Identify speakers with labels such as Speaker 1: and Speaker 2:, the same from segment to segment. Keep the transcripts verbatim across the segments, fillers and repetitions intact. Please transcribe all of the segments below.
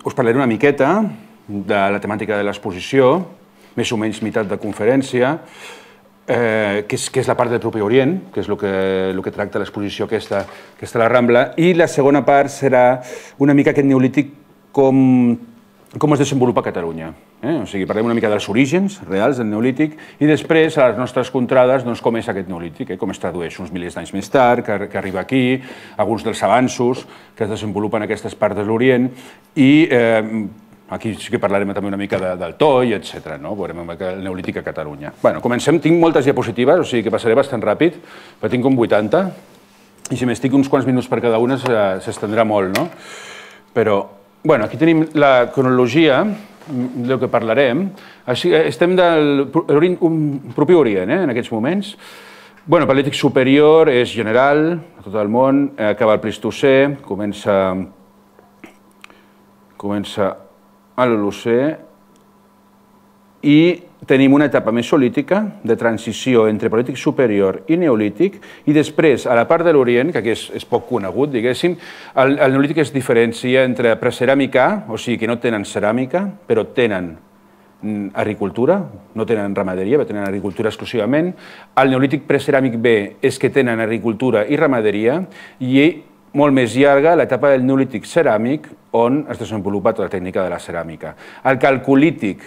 Speaker 1: us parlaré una miqueta de la temàtica de l'exposició, més o menys meitat de conferència, que és la part del propi Orient, que és el que tracta l'exposició aquesta, que està a la Rambla, i la segona part serà una mica aquest neolític com es desenvolupa a Catalunya. O sigui, parlem una mica dels orígens reals del neolític i després, a les nostres contrades, com és aquest neolític, com es tradueix uns milers d'anys més tard, que arriba aquí, alguns dels avanços que es desenvolupen en aquestes parts de l'Orient i aquí sí que parlarem també una mica del Toll, etcètera. Veurem el neolític a Catalunya. Bé, comencem. Tinc moltes diapositives, o sigui que passaré bastant ràpid, però tinc com vuitanta i si m'estic uns quants minuts per cada una s'estendrà molt, no? Però, bé, aquí tenim la cronologia del que parlarem. Estem del propi Orient, en aquests moments. Bé, el Paleolític superior és general a tot el món, acaba el Plistocè, comença comença a l'Holocè i tenim una etapa mesolítica de transició entre Paleolític superior i Neolític i després, a la part de l'Orient, que aquí és poc conegut, diguéssim, el Neolític es diferencia entre preceràmica, o sigui que no tenen ceràmica, però tenen agricultura, no tenen ramaderia, però tenen agricultura exclusivament. El Neolític preceràmic B és que tenen agricultura i ramaderia i molt més llarga l'etapa del Neolític ceràmic on es desenvolupa tota la tècnica de la ceràmica. El Calcolític,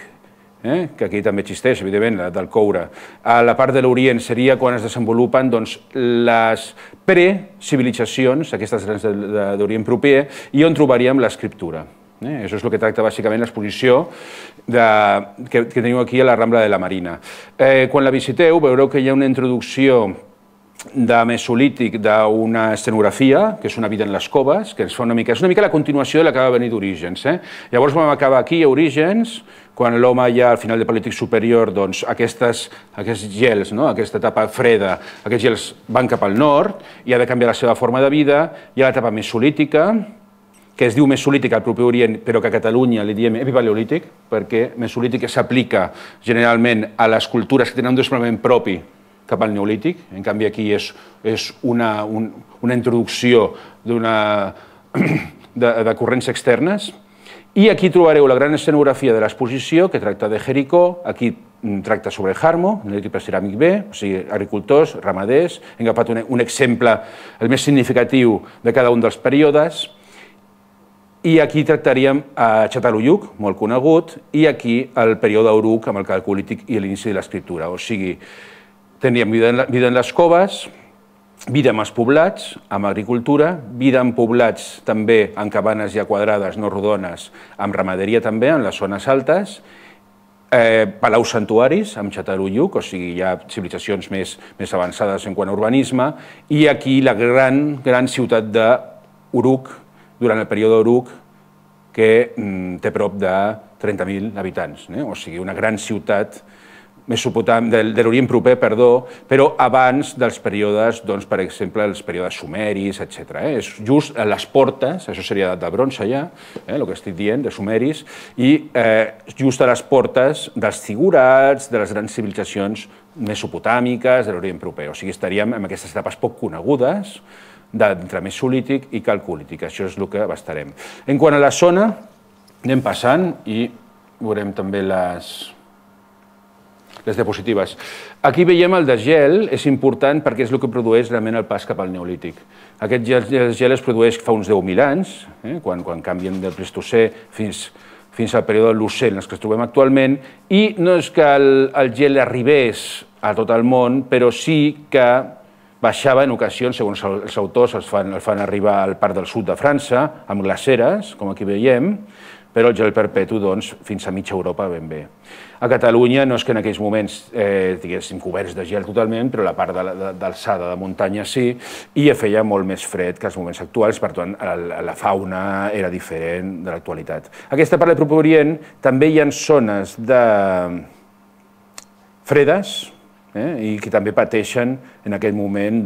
Speaker 1: que aquí també existeix, evidentment, del coure, a la part de l'Orient seria quan es desenvolupen les precivilitzacions, aquestes grans d'Orient proper, i on trobaríem l'escriptura. Això és el que tracta bàsicament l'exposició que teniu aquí a la Rambla de la Marina. Quan la visiteu veureu que hi ha una introducció de mesolític d'una escenografia, que és una vida en les coves, que és una mica la continuació de la que va venir d'Orígens. Llavors vam acabar aquí a Orígens, quan l'home ja al final del Paleolític superior, doncs aquests gels, aquesta etapa freda, aquests gels van cap al nord i ha de canviar la seva forma de vida. Hi ha l'etapa mesolítica, que es diu mesolític al propi Orient, però que a Catalunya li diem epipaleolític, perquè mesolític s'aplica generalment a les cultures que tenen un desenvolupament propi cap al Neolític. En canvi, aquí és una introducció de corrents externes. I aquí trobareu la gran escenografia de l'exposició, que tracta de Jericó. Aquí tracta sobre Jarmo, Neolític preceràmic B, o sigui, agricultors, ramaders. Hem agafat un exemple, el més significatiu de cada un dels períodes. I aquí tractaríem a Çatalhöyük, molt conegut, i aquí el període Uruk amb el Calcolític i l'inici de l'escriptura. O sigui, tindríem vida en les coves, vida en els poblats, amb agricultura, vida en poblats també en cabanes ja quadrades, no rodones, amb ramaderia també, en les zones altes, palaus santuaris amb Çatalhöyük, o sigui, hi ha civilitzacions més avançades en quant a urbanisme, i aquí la gran ciutat d'Uruk, durant el període Uruk, que té prop de trenta mil habitants, o sigui, una gran ciutat de l'Orient proper, perdó, però abans dels períodes, per exemple, els períodes sumeris, etcètera. És just a les portes, això seria de bronze ja, el que estic dient, de sumeris, i just a les portes dels zigurats, de les grans civilitzacions mesopotàmiques de l'Orient proper. O sigui, estaríem en aquestes etapes poc conegudes d'entre mesolític i calcolític. Això és el que abastarem. En quant a la zona, anem passant i veurem també les... les diapositives. Aquí veiem el desgel, és important perquè és el que produeix realment el pas cap al Neolític. Aquest desgel es produeix fa uns deu mil anys, quan canvien del Plistocè fins al període de l'Holocè en els que ens trobem actualment, i no és que el gel arribés a tot el món, però sí que baixava en ocasions, segons els autors, el fan arribar al part del sud de França, amb glaceres, com aquí veiem, però el gel perpetu fins a mitja Europa ben bé. A Catalunya no és que en aquells moments estiguéssim coberts de gel totalment, però la part d'alçada de muntanya sí, i feia molt més fred que els moments actuals, per tant la fauna era diferent de l'actualitat. Aquesta part del propi Orient també hi ha zones fredes i que també pateixen en aquest moment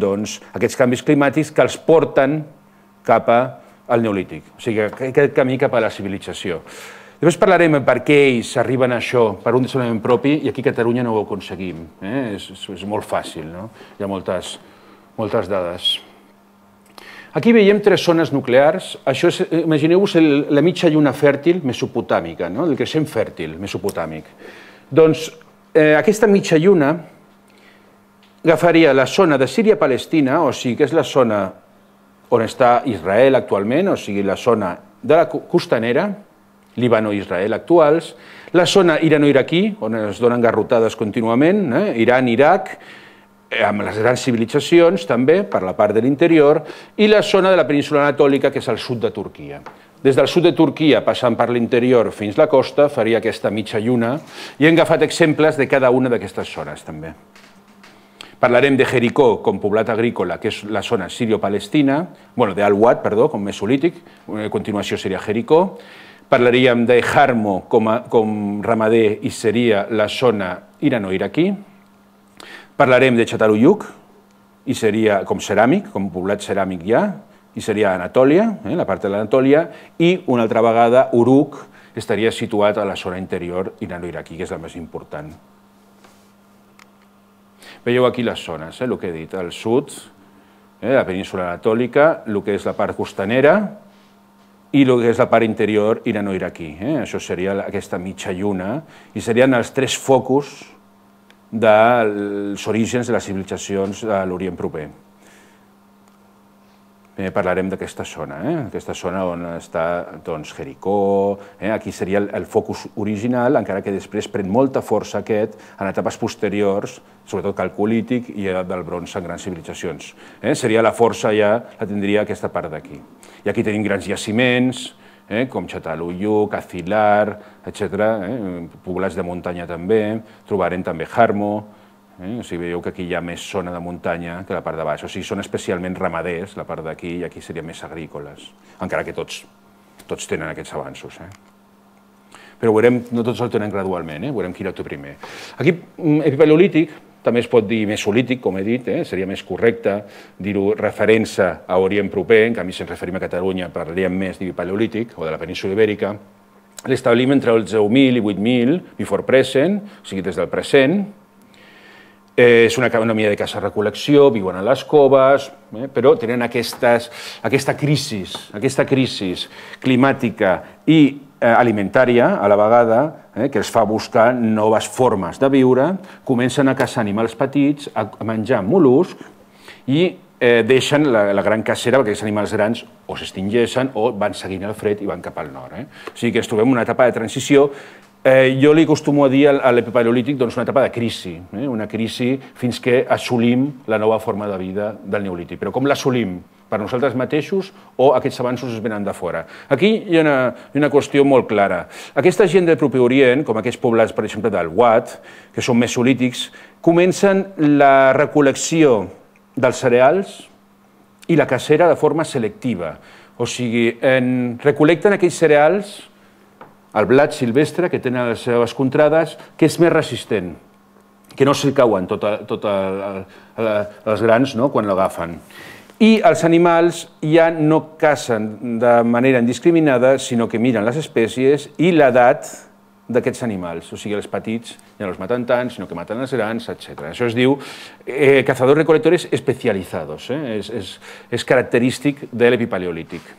Speaker 1: aquests canvis climàtics que els porten cap al Neolític, o sigui, aquest camí cap a la civilització. Després parlarem per què ells arriben a això per un desenvolupament propi i aquí a Catalunya no ho aconseguim. És molt fàcil, hi ha moltes dades. Aquí veiem tres zones nuclears. Això és, imagineu-vos la mitja lluna fèrtil mesopotàmica, no? El creixent fèrtil mesopotàmic. Doncs eh, aquesta mitja lluna agafaria la zona de Síria-Palestina, o sigui que és la zona on està Israel actualment, o sigui la zona de la costanera, Líbano-Israel actuals, la zona irano-iraquí, on es donen garrotades contínuament, eh? Iran, Iraq, amb les grans civilitzacions també, per la part de l'interior, i la zona de la península anatòlica, que és al sud de Turquia. Des del sud de Turquia, passant per l'interior fins a la costa, faria aquesta mitja lluna, i hem agafat exemples de cada una d'aquestes zones també. Parlarem de Jericó com poblat agrícola, que és la zona sirio-palestina, bueno, d'Al-Wad, perdó, com mesolític, a continuació seria Jericó. Parlaríem de Jarmo com, a, com ramader i seria la zona irano-iraquí. Parlarem de Çatalhöyük, i seria com ceràmic, com poblat ceràmic ja, i seria Anatòlia, eh, la part de l'Anatòlia, i una altra vegada Uruk estaria situat a la zona interior irano-iraquí, que és la més important. Veieu aquí les zones, eh, el que he dit, al sud, eh, la península anatòlica, el que és la part costanera i el que és la part interior irano-iraquí. Eh? Això seria aquesta mitja lluna i serien els tres focus dels orígens de les civilitzacions de l'Orient proper. Primer parlarem d'aquesta zona, eh? aquesta zona on està doncs, Jericó, eh? aquí seria el, el focus original, encara que després pren molta força aquest en etapes posteriors, sobretot calcolític i del bronze en grans civilitzacions. Eh? Seria la força ja, la tindria aquesta part d'aquí. I aquí tenim grans jaciments, eh? com Çatalhöyük, Azilar, etcètera, eh? poblats de muntanya també, trobarem també Jarmo. Eh? O sigui, veieu que aquí hi ha més zona de muntanya que la part de baix. O sigui, són especialment ramaders, la part d'aquí, i aquí serien més agrícoles, encara que tots, tots tenen aquests avanços. Eh? Però veurem, no tots el tenen gradualment, eh? veurem qui era el primer. Aquí, epipaleolític, també es pot dir mesolític, com he dit, eh? seria més correcte dir-ho referència a Orient proper, en canvi si ens referim a Catalunya parlaríem més d'epipaleolític o de la península ibèrica. L'establim entre els deu mil i vuit mil, before present, o sigui, des del present. Eh, és una economia de caça-recol·lecció, viuen a les coves, eh, però tenen aquestes, aquesta crisi, aquesta crisi climàtica i eh, alimentària a la vegada, eh, que els fa buscar noves formes de viure, comencen a caçar animals petits, a menjar mol·luscs i eh, deixen la, la gran cacera perquè aquests animals grans o s'extingeixen o van seguint el fred i van cap al nord. Eh? O sigui que ens trobem en una etapa de transició. Eh, jo li acostumo a dir a l'epipaleolític doncs, una etapa de crisi, eh? una crisi fins que assolim la nova forma de vida del neolític. Però com l'assolim? Per nosaltres mateixos o aquests avanços es venen de fora? Aquí hi ha una, una qüestió molt clara. Aquesta gent del proper Orient, com aquests poblats, per exemple, del Wad, que són mesolítics, comencen la recol·lecció dels cereals i la cacera de forma selectiva. O sigui, en, recol·lecten aquells cereals, el blat silvestre, que tenen les seves contrades, que és més resistent, que no se'l cauen tots tot els grans no? quan l'agafen. I els animals ja no cacen de manera indiscriminada, sinó que miren les espècies i l'edat d'aquests animals. O sigui, els petits ja no els maten tant, sinó que maten els grans, etcètera. Això es diu eh, cazadors-recolectores especializados. Eh? És, és, és característic de l'epipaleolític.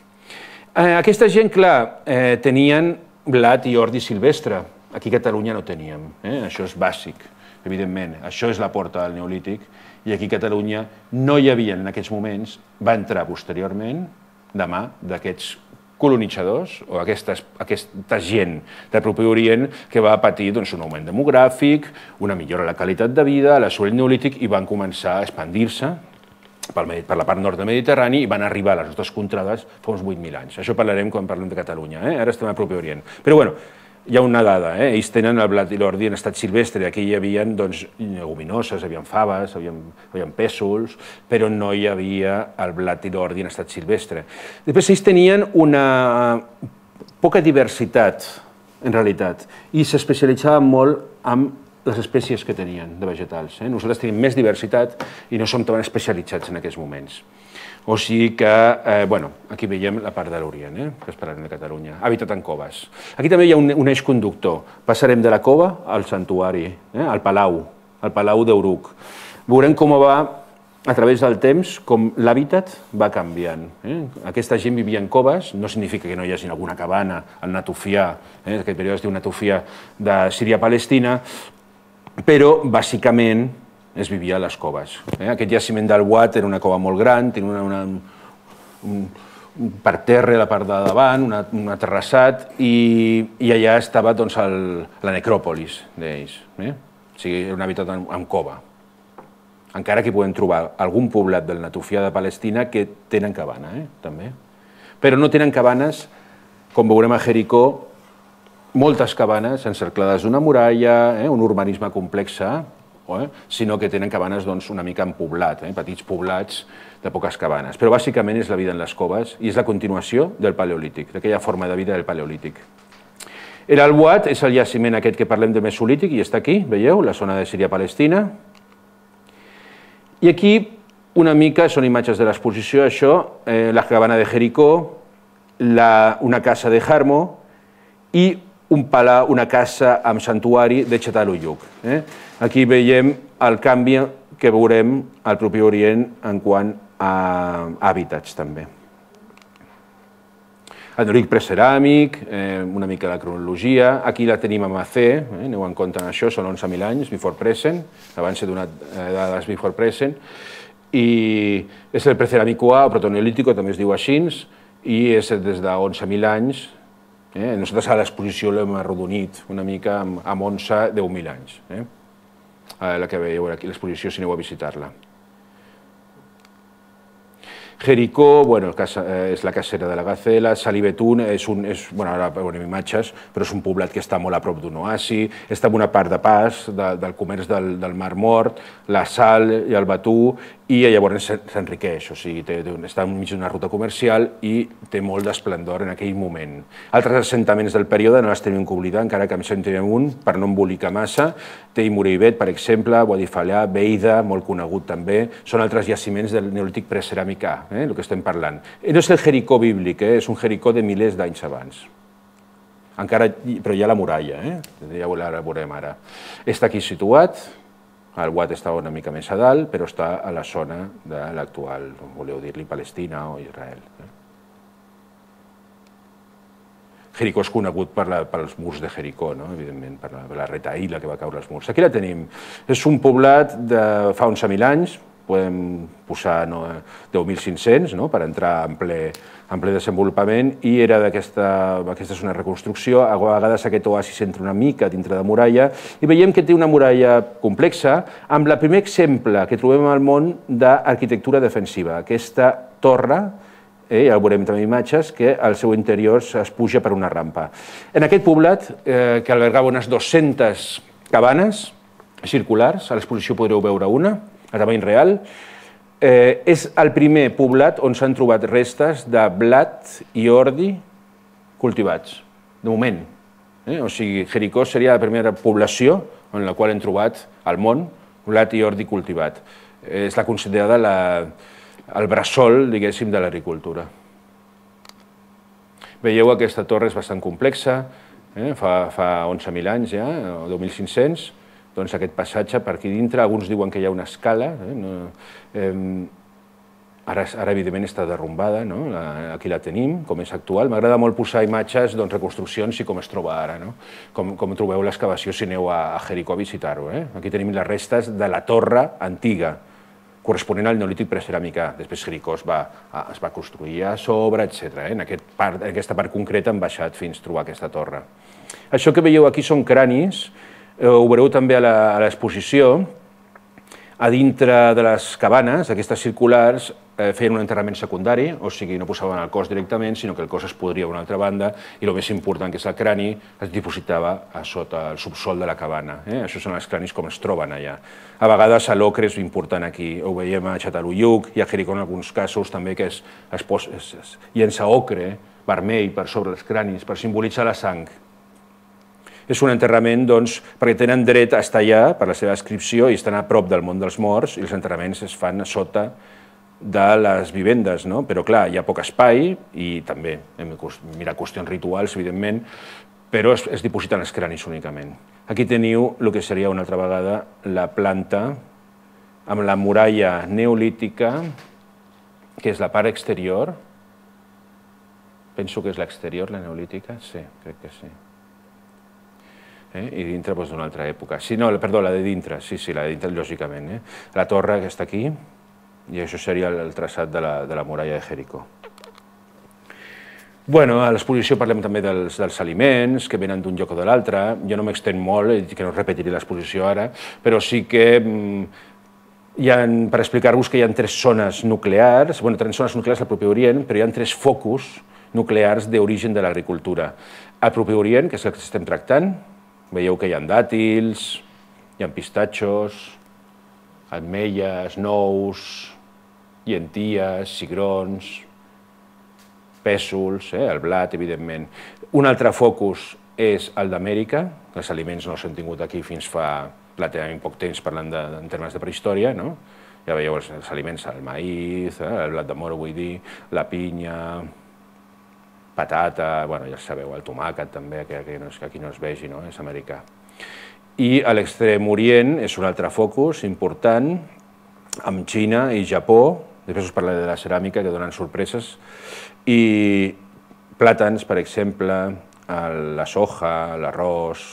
Speaker 1: Eh, aquesta gent, clar, eh, tenien blat i ordi silvestre. Aquí a Catalunya no teníem. Eh? Això és bàsic, evidentment. Això és la porta del neolític. I aquí a Catalunya no hi havia en aquests moments, va entrar posteriorment, de mà d'aquests colonitzadors o aquesta, aquesta gent del proper Orient que va patir doncs, un augment demogràfic, una millora de la qualitat de vida, l'assoliment neolític i van començar a expandir-se per la part nord del Mediterrani i van arribar a les nostres contrades fa uns vuit mil anys. Això parlarem quan parlem de Catalunya, eh? Ara estem al proper Orient. Però bueno, hi ha una dada, eh? Ells tenen el blat i l'ordi en estat silvestre, aquí hi havia doncs, lleguminoses, hi havia faves, hi havia pèsols, però no hi havia el blat i l'ordi en estat silvestre. Després ells tenien una poca diversitat, en realitat, i s'especialitzaven molt en les espècies que tenien de vegetals. Eh? Nosaltres tenim més diversitat i no som tan especialitzats en aquests moments. O sigui que, eh, bueno, aquí veiem la part de l'Orient, eh, que es parlarem de Catalunya. Habitat en coves. Aquí també hi ha un, un eix conductor. Passarem de la cova al santuari, eh, al palau, al palau d'Uruk. Veurem com va a través del temps, com l'hàbitat va canviant. Aquesta gent vivia en coves, no significa que no hi hagi alguna cabana al Natufià, aquest període es diu Natufià de Síria-Palestina, però bàsicament es vivia a les coves. Aquest jaciment del Ouad era una cova molt gran, tenia una, un, un parterre a la part de davant, una, un terrassat, i, i allà estava doncs, el, la necròpolis d'ells. Eh? O sigui, era un habitat en, en cova. Encara que podem trobar algun poblat del Natufià de Palestina que tenen cabana, eh? també. Però no tenen cabanes, com veurem a Jericó, moltes cabanes encerclades d'una muralla, eh? un urbanisme complex, eh? sinó que tenen cabanes doncs, una mica en poblat, eh? petits poblats de poques cabanes. Però bàsicament és la vida en les coves i és la continuació del Paleolític, d'aquella forma de vida del Paleolític. El Ouad és el jaciment aquest que parlem de Mesolític i està aquí, veieu, la zona de Síria-Palestina. I aquí una mica són imatges de l'exposició, això, eh, la cabana de Jericó, la, una casa de Jarmo i un palau, una casa amb santuari de Çatalhöyük. Eh? Aquí veiem el canvi que veurem al propi Orient en quant a hàbitats també. El neolític preceràmic, eh, una mica la cronologia, aquí la tenim a Macé, eh, aneu en compte en això, són onze mil anys, before present, abans he donat eh, dades before present, i és el preceràmico-A, o protoneolítico, també es diu així, i és des de onze mil anys. Eh? Nosaltres a l'exposició l'hem arrodonit una mica amb, amb onze, deu mil anys, eh? la que veieu aquí, l'exposició, si aneu a visitar-la. Jericó, bueno, és la cacera de la Gacela, Salibetún, és un, és, bueno, ara veurem imatges, però és un poblat que està molt a prop d'un oasi, està en una part de pas de, del comerç del, del Mar Mort, la sal i el batú, i llavors s'enriqueix, o sigui, té, està enmig d'una ruta comercial i té molt d'esplendor en aquell moment. Altres assentaments del període no les tenim que oblidar, encara que em sentirem un, per no embolicar massa, té Moreibet, per exemple, Boadifallà, Beida, molt conegut també, són altres jaciments del neolític preceràmic A, eh, el que estem parlant. No és el Jericó bíblic, eh, és un Jericó de milers d'anys abans. Encara, però hi ha la muralla, eh? Ja la veurem ara. Està aquí situat, el Ouad està una mica més a dalt, però està a la zona de l'actual, voleu dir-li, Palestina o Israel. Jericó és conegut per la, pels murs de Jericó, no? Evidentment, per la, per la retaïla que va caure als murs. Aquí la tenim. És un poblat de fa onze mil anys, podem posar no, deu mil cinc-cents no? per entrar en ple, en ple desenvolupament, i era d'aquesta, aquesta és una reconstrucció, a vegades aquest oasis entra una mica dintre de muralla, i veiem que té una muralla complexa, amb el primer exemple que trobem al món d'arquitectura defensiva, aquesta torre, eh, ja veurem també imatges, que al seu interior es puja per una rampa. En aquest poblat, eh, que albergava unes dues-centes cabanes circulars, a l'exposició podreu veure una, a tamany real, eh, és el primer poblat on s'han trobat restes de blat i ordi cultivats, de moment. Eh? O sigui, Jericó seria la primera població en la qual hem trobat al món blat i ordi cultivat. Eh, és la considerada la, el bressol, diguéssim, de l'agricultura. Veieu, aquesta torre és bastant complexa, eh? fa, fa onze mil anys ja, o deu mil cinc-cents, doncs aquest passatge per aquí dintre, alguns diuen que hi ha una escala, eh? No, eh, ara, ara evidentment està derrumbada, no? la, aquí la tenim, com és actual. M'agrada molt posar imatges, doncs, reconstruccions i com es troba ara, no? com, com trobeu l'excavació si aneu a, a Jericó a visitar-ho. Eh? Aquí tenim les restes de la torre antiga, corresponent al neolític preceràmic A. Després Jericó es va, es va construir a sobre, etcètera. Eh? En, aquest part, en aquesta part concreta han baixat fins a trobar aquesta torre. Això que veieu aquí són cranis, ho veureu també a l'exposició. A dintre de les cabanes, aquestes circulars, eh, feien un enterrament secundari, o sigui, no posaven el cos directament, sinó que el cos es podria a una altra banda, i el més important, que és el crani, es dipositava a sota el subsol de la cabana. Eh? Això són els cranis com es troben allà. A vegades l'ocre és important aquí, ho veiem a Çatalhöyük i a Jericó en alguns casos també, que es, es, pos, es, es llença ocre vermell per sobre els cranis per simbolitzar la sang. És un enterrament, doncs, perquè tenen dret a estar allà per la seva inscripció i estan a prop del món dels morts, i els enterraments es fan a sota de les vivendes, no? Però clar, hi ha poc espai i també hem de mirar qüestions rituals, evidentment, però es, es dipositen els cranis únicament. Aquí teniu el que seria una altra vegada la planta amb la muralla neolítica, que és la part exterior. Penso que és l'exterior, la neolítica. Sí, crec que sí. Eh? I dintre doncs, d'una altra època. Sí, no, perdó, la de dintre, sí, sí, la de dintre, lògicament. Eh? La torre que està aquí, i això seria el traçat de la, de la muralla de Jericó. Bueno, a l'exposició parlem també dels, dels aliments, que venen d'un lloc o de l'altre. Jo no m'extenc molt, i que no repetiré l'exposició ara, però sí que hi ha, per explicar-vos que hi ha tres zones nuclears, bueno, tres zones nuclears al propi Orient, però hi ha tres focus nuclears d'origen de l'agricultura. Al propi Orient, que és el que estem tractant, veieu que hi ha dàtils, hi ha pistatxos, ametlles, nous, llenties, cigrons, pèsols, eh, el blat, evidentment. Un altre focus és el d'Amèrica, que els aliments no s'han tingut aquí fins fa relativament poc temps, parlant de, en termes de prehistòria, no? Ja veieu els, els aliments, el maïs, eh, el blat de moro, vull dir, la pinya, patata, bueno, ja sabeu, el tomàquet també, que aquí no, que aquí no es vegi, no? És americà. I a l'extrem orient és un altre focus important, amb Xina i Japó, després us parlaré de la ceràmica, que donen sorpreses, i plàtans, per exemple, la soja, l'arròs,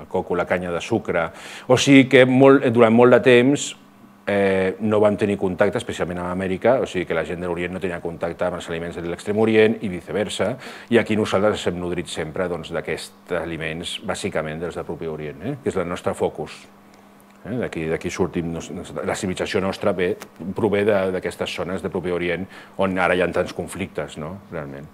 Speaker 1: el coco, la canya de sucre. O sigui que molt, durant molt de temps eh, no vam tenir contacte, especialment amb Amèrica, o sigui que la gent de l'Orient no tenia contacte amb els aliments de l'extrem Orient i viceversa, i aquí nosaltres ens hem nodrit sempre d'aquests doncs, aliments, bàsicament dels del propi Orient, eh, que és el nostre focus. Eh, D'aquí sortim, la civilització nostra ve, prové d'aquestes zones de propi Orient on ara hi ha tants conflictes, no?, realment.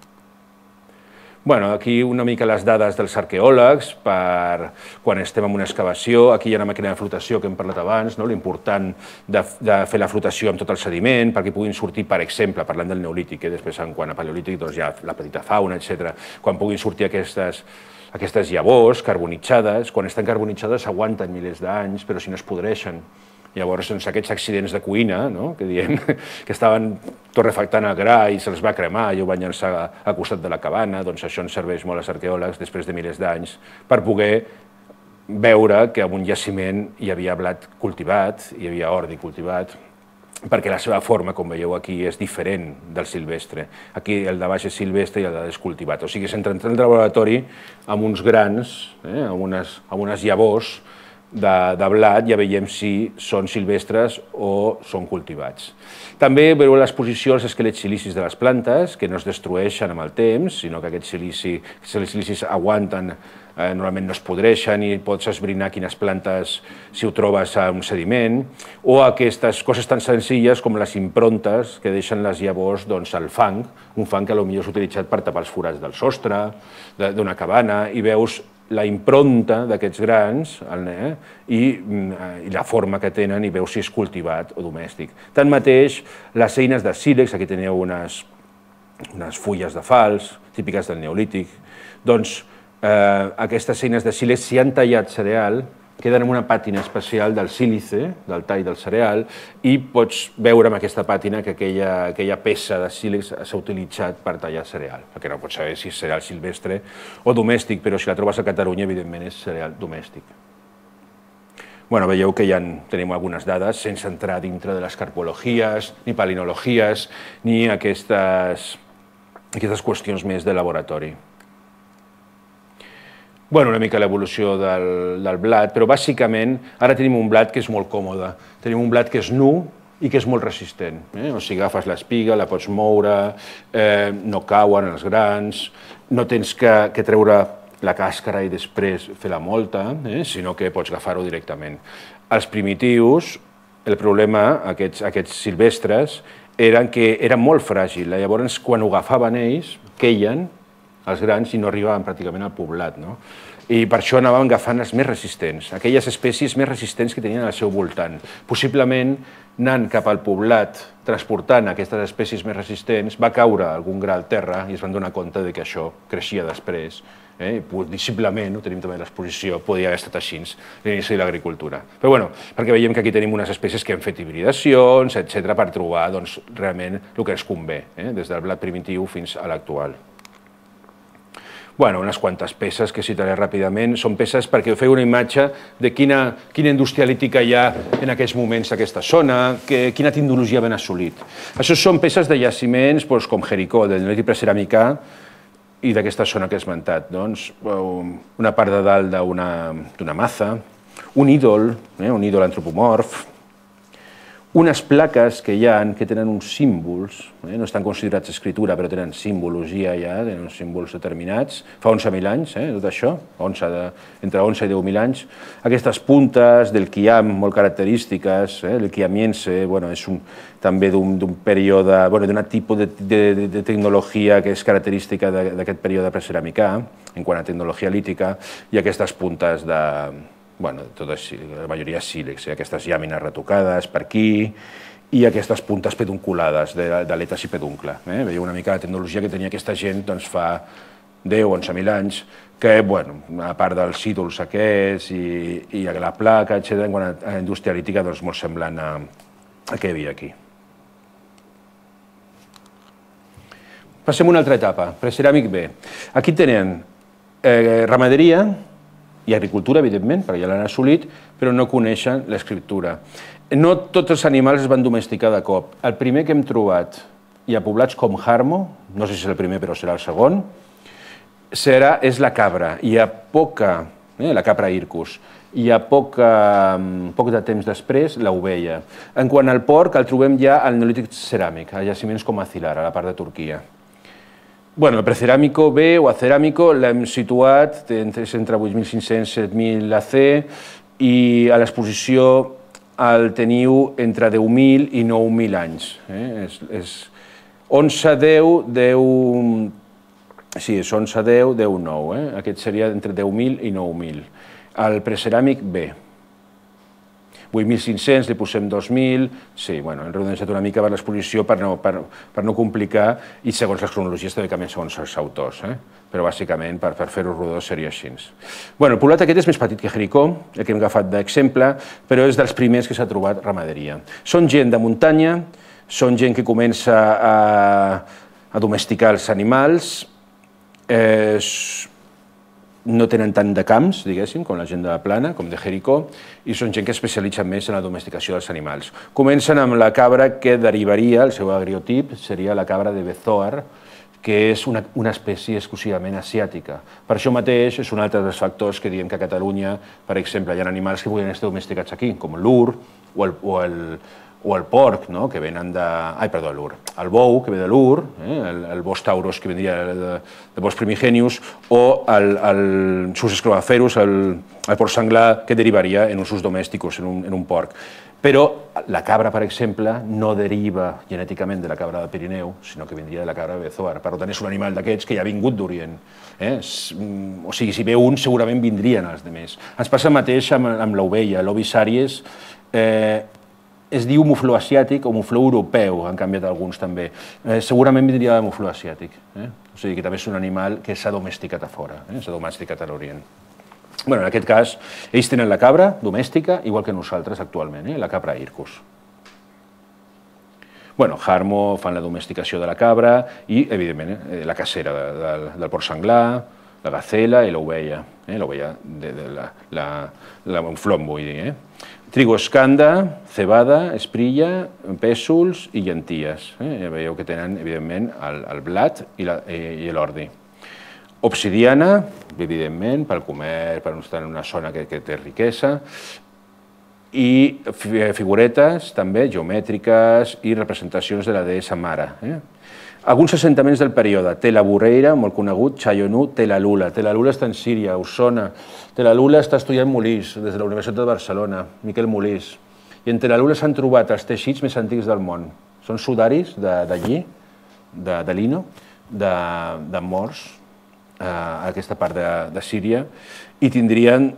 Speaker 1: Bueno, aquí una mica les dades dels arqueòlegs per quan estem en una excavació. Aquí hi ha una màquina de flotació que hem parlat abans, no? L'important de, de fer la flotació amb tot el sediment perquè puguin sortir, per exemple, parlant del neolític, eh? Després en quant a paleolític doncs hi ha la petita fauna, etcètera. Quan puguin sortir aquestes, aquestes llavors carbonitzades, quan estan carbonitzades aguanten milers d'anys, però si no es podreixen. Llavors, doncs, aquests accidents de cuina, no? Que diem que estaven torrefactant el gra i se'ls va cremar i ho van llançar al costat de la cabana, doncs això ens serveix molt als arqueòlegs després de milers d'anys per poder veure que en un jaciment hi havia blat cultivat, hi havia ordi cultivat, perquè la seva forma, com veieu aquí, és diferent del silvestre. Aquí el de baix és silvestre i el de dalt és cultivat. O sigui, s'entra al laboratori amb uns grans, eh, amb, unes, amb unes llavors de, de blat, ja veiem si són silvestres o són cultivats. També veureu a l'exposició els esquelets silicis de les plantes, que no es destrueixen amb el temps, sinó que aquests silici, silicis aguanten, eh, normalment no es podreixen i pots esbrinar quines plantes, si ho trobes a un sediment, o aquestes coses tan senzilles com les improntes que deixen les llavors doncs, al fang, un fang que potser és utilitzat per tapar els forats del sostre, d'una cabana, i veus la impronta d'aquests grans eh, i, i la forma que tenen i veus si és cultivat o domèstic. Tanmateix, les eines de sílex, aquí teniu unes, unes fulles de falç, típiques del neolític, doncs eh, aquestes eines de sílex, si han tallat cereal, queden en una pàtina especial del sílice, del tall del cereal, i pots veure amb aquesta pàtina que aquella, aquella peça de sílex s'ha utilitzat per tallar cereal, perquè no pots saber si és cereal silvestre o domèstic, però si la trobes a Catalunya, evidentment és cereal domèstic. Bueno, veieu que ja tenim algunes dades sense entrar dintre de les carpologies, ni palinologies, ni aquestes, aquestes qüestions més de laboratori. Bueno, una mica l'evolució del, del blat, però bàsicament ara tenim un blat que és molt còmode. Tenim un blat que és nu i que és molt resistent. Eh? O sigui, agafes l'espiga, la pots moure, eh, no cauen els grans, no tens que, que treure la càscara i després fer la molta, eh? Sinó que pots agafar-ho directament. Els primitius, el problema, aquests, aquests silvestres, eren que eren molt fràgils. Llavors, quan ho agafaven ells, queien els grans i no arribaven pràcticament al poblat, no? I per això anaven agafant els més resistents, aquelles espècies més resistents que tenien al seu voltant. Possiblement, anant cap al poblat, transportant aquestes espècies més resistents, va caure algun gra al terra i es van donar compte que això creixia després. Eh? Possiblement, ho tenim també a l'exposició, podria haver estat així l'inici de l'agricultura. Però bueno, perquè veiem que aquí tenim unes espècies que han fet hibridacions, etcètera, per trobar doncs, realment el que ens convé, eh? Des del blat primitiu fins a l'actual. Bueno, unes quantes peces que citaré ràpidament. Són peces perquè feu una imatge de quina, quina indústria lítica hi ha en aquests moments a aquesta zona, que, quina tecnologia ben assolit. Això són peces de jaciments doncs, com Jericó, del neolític preceràmica, i d'aquesta zona que he esmentat. Doncs, una part de dalt d'una maza, un ídol, eh, un ídol antropomorf, unes plaques que hi ha que tenen uns símbols, eh, no estan considerats escritura, però tenen simbologia ja, tenen uns símbols determinats, fa onze mil anys, eh, tot això, onze de, entre onze i deu mil anys. Aquestes puntes del quiam molt característiques, eh, el quiamiense, bueno, és un, també d'un període, bueno, d'un tipus de, de, de tecnologia que és característica d'aquest període preceràmica, en quant a tecnologia lítica, i aquestes puntes de... Bueno, totes, la majoria sílex, eh? Aquestes llàmines retocades per aquí i aquestes puntes pedunculades d'aletes i peduncle. Eh? Veieu una mica la tecnologia que tenia aquesta gent doncs, fa deu o onze mil anys, que, bueno, a part dels ídols aquests i, i la placa, etcètera, en quant a la indústria lítica, doncs, molt semblant a, a què hi havia aquí. Passem a una altra etapa, preceràmic B. Aquí tenen eh, ramaderia i agricultura, evidentment, perquè ja l'han assolit, però no coneixen l'escriptura. No tots els animals es van domesticar de cop. El primer que hem trobat, i a poblats com Jarmo, no sé si és el primer però serà el segon, serà, és la cabra. Hi ha poca, eh, la capra Ircus, hi ha poca, poc de temps després l'ovella. En quant al porc, el trobem ja al neolític ceràmic, a jaciments com a Cilar, a la part de Turquia. Bueno, el preceràmico B o aceràmico l'hem situat entre vuit mil cinc-cents i set mil A C i a l'exposició el teniu entre deu mil i nou mil anys. Eh? És, és onze, deu, deu... Sí, és onze, deu, deu, nou. Eh? Aquest seria entre deu mil i nou mil. El preceràmic B. vuit mil cinc-cents, li posem dos mil, sí, bueno, hem redonejat una mica per l'exposició per no, per, per no complicar i segons les cronologies també canvien segons els autors, eh? Però bàsicament per, per fer-ho rodó seria així. Bueno, el poblat aquest és més petit que Jericó, el que hem agafat d'exemple, però és dels primers que s'ha trobat ramaderia. Són gent de muntanya, són gent que comença a, a domesticar els animals, eh, no tenen tant de camps, diguéssim, com la gent de la Plana, com de Jericó, i són gent que especialitza més en la domesticació dels animals. Comencen amb la cabra que derivaria, el seu agriotip, seria la cabra de Bezoar, que és una, una espècie exclusivament asiàtica. Per això mateix és un altre dels factors que diem que a Catalunya, per exemple, hi ha animals que podrien estar domesticats aquí, com l'ur o el, o el, o el porc, no? Que venen de... Ai, perdó, l'ur. El bou, que ve de l'ur, eh? el, el bos tauros, que vendria de, de bos primigenius, o el, el sus escrobaferus, el, el porc senglar, que derivaria en usos domèsticos, en un, en un porc. Però la cabra, per exemple, no deriva genèticament de la cabra del Pirineu, sinó que vindria de la cabra de Bezoar. Per tant, és un animal d'aquests que ja ha vingut d'Orient. Eh? O sigui, si ve un, segurament vindrien els altres. Ens passa el mateix amb, amb l'ovella. L'ovis àries eh, es diu mufló asiàtic o mufló europeu, han canviat alguns també. Eh, segurament vindria de mufló asiàtic. Eh? O sigui que també és un animal que s'ha domesticat a fora, eh? s'ha domesticat a l'Orient. Bueno, en aquest cas, ells tenen la cabra domèstica, igual que nosaltres actualment, eh? la capra Ircus. Bueno, Jarmo fan la domesticació de la cabra i, evidentment, eh, la cacera de, de, del porc senglar, la gacela i l'ovella, eh? l'ovella de, de la, la, la monflom, vull dir. Eh? Trigo escanda, cebada, esprilla, pèsols i llenties. Eh? Ja veieu que tenen, evidentment, el, el blat i l'ordi. Obsidiana, evidentment, pel comerç, per estar en una zona que, que té riquesa, i figuretes, també, geomètriques i representacions de la deessa mare. Eh? Alguns assentaments del període, Tela Burreira, molt conegut, Chayonú, Telalula. Telalula està en Síria, Osona. Telalula està estudiant Molís, des de la Universitat de Barcelona, Miquel Molís. I en Telalula s'han trobat els teixits més antics del món. Són sudaris d'allí, de, de lino, de, de morts, a aquesta part de, de Síria, i tindrien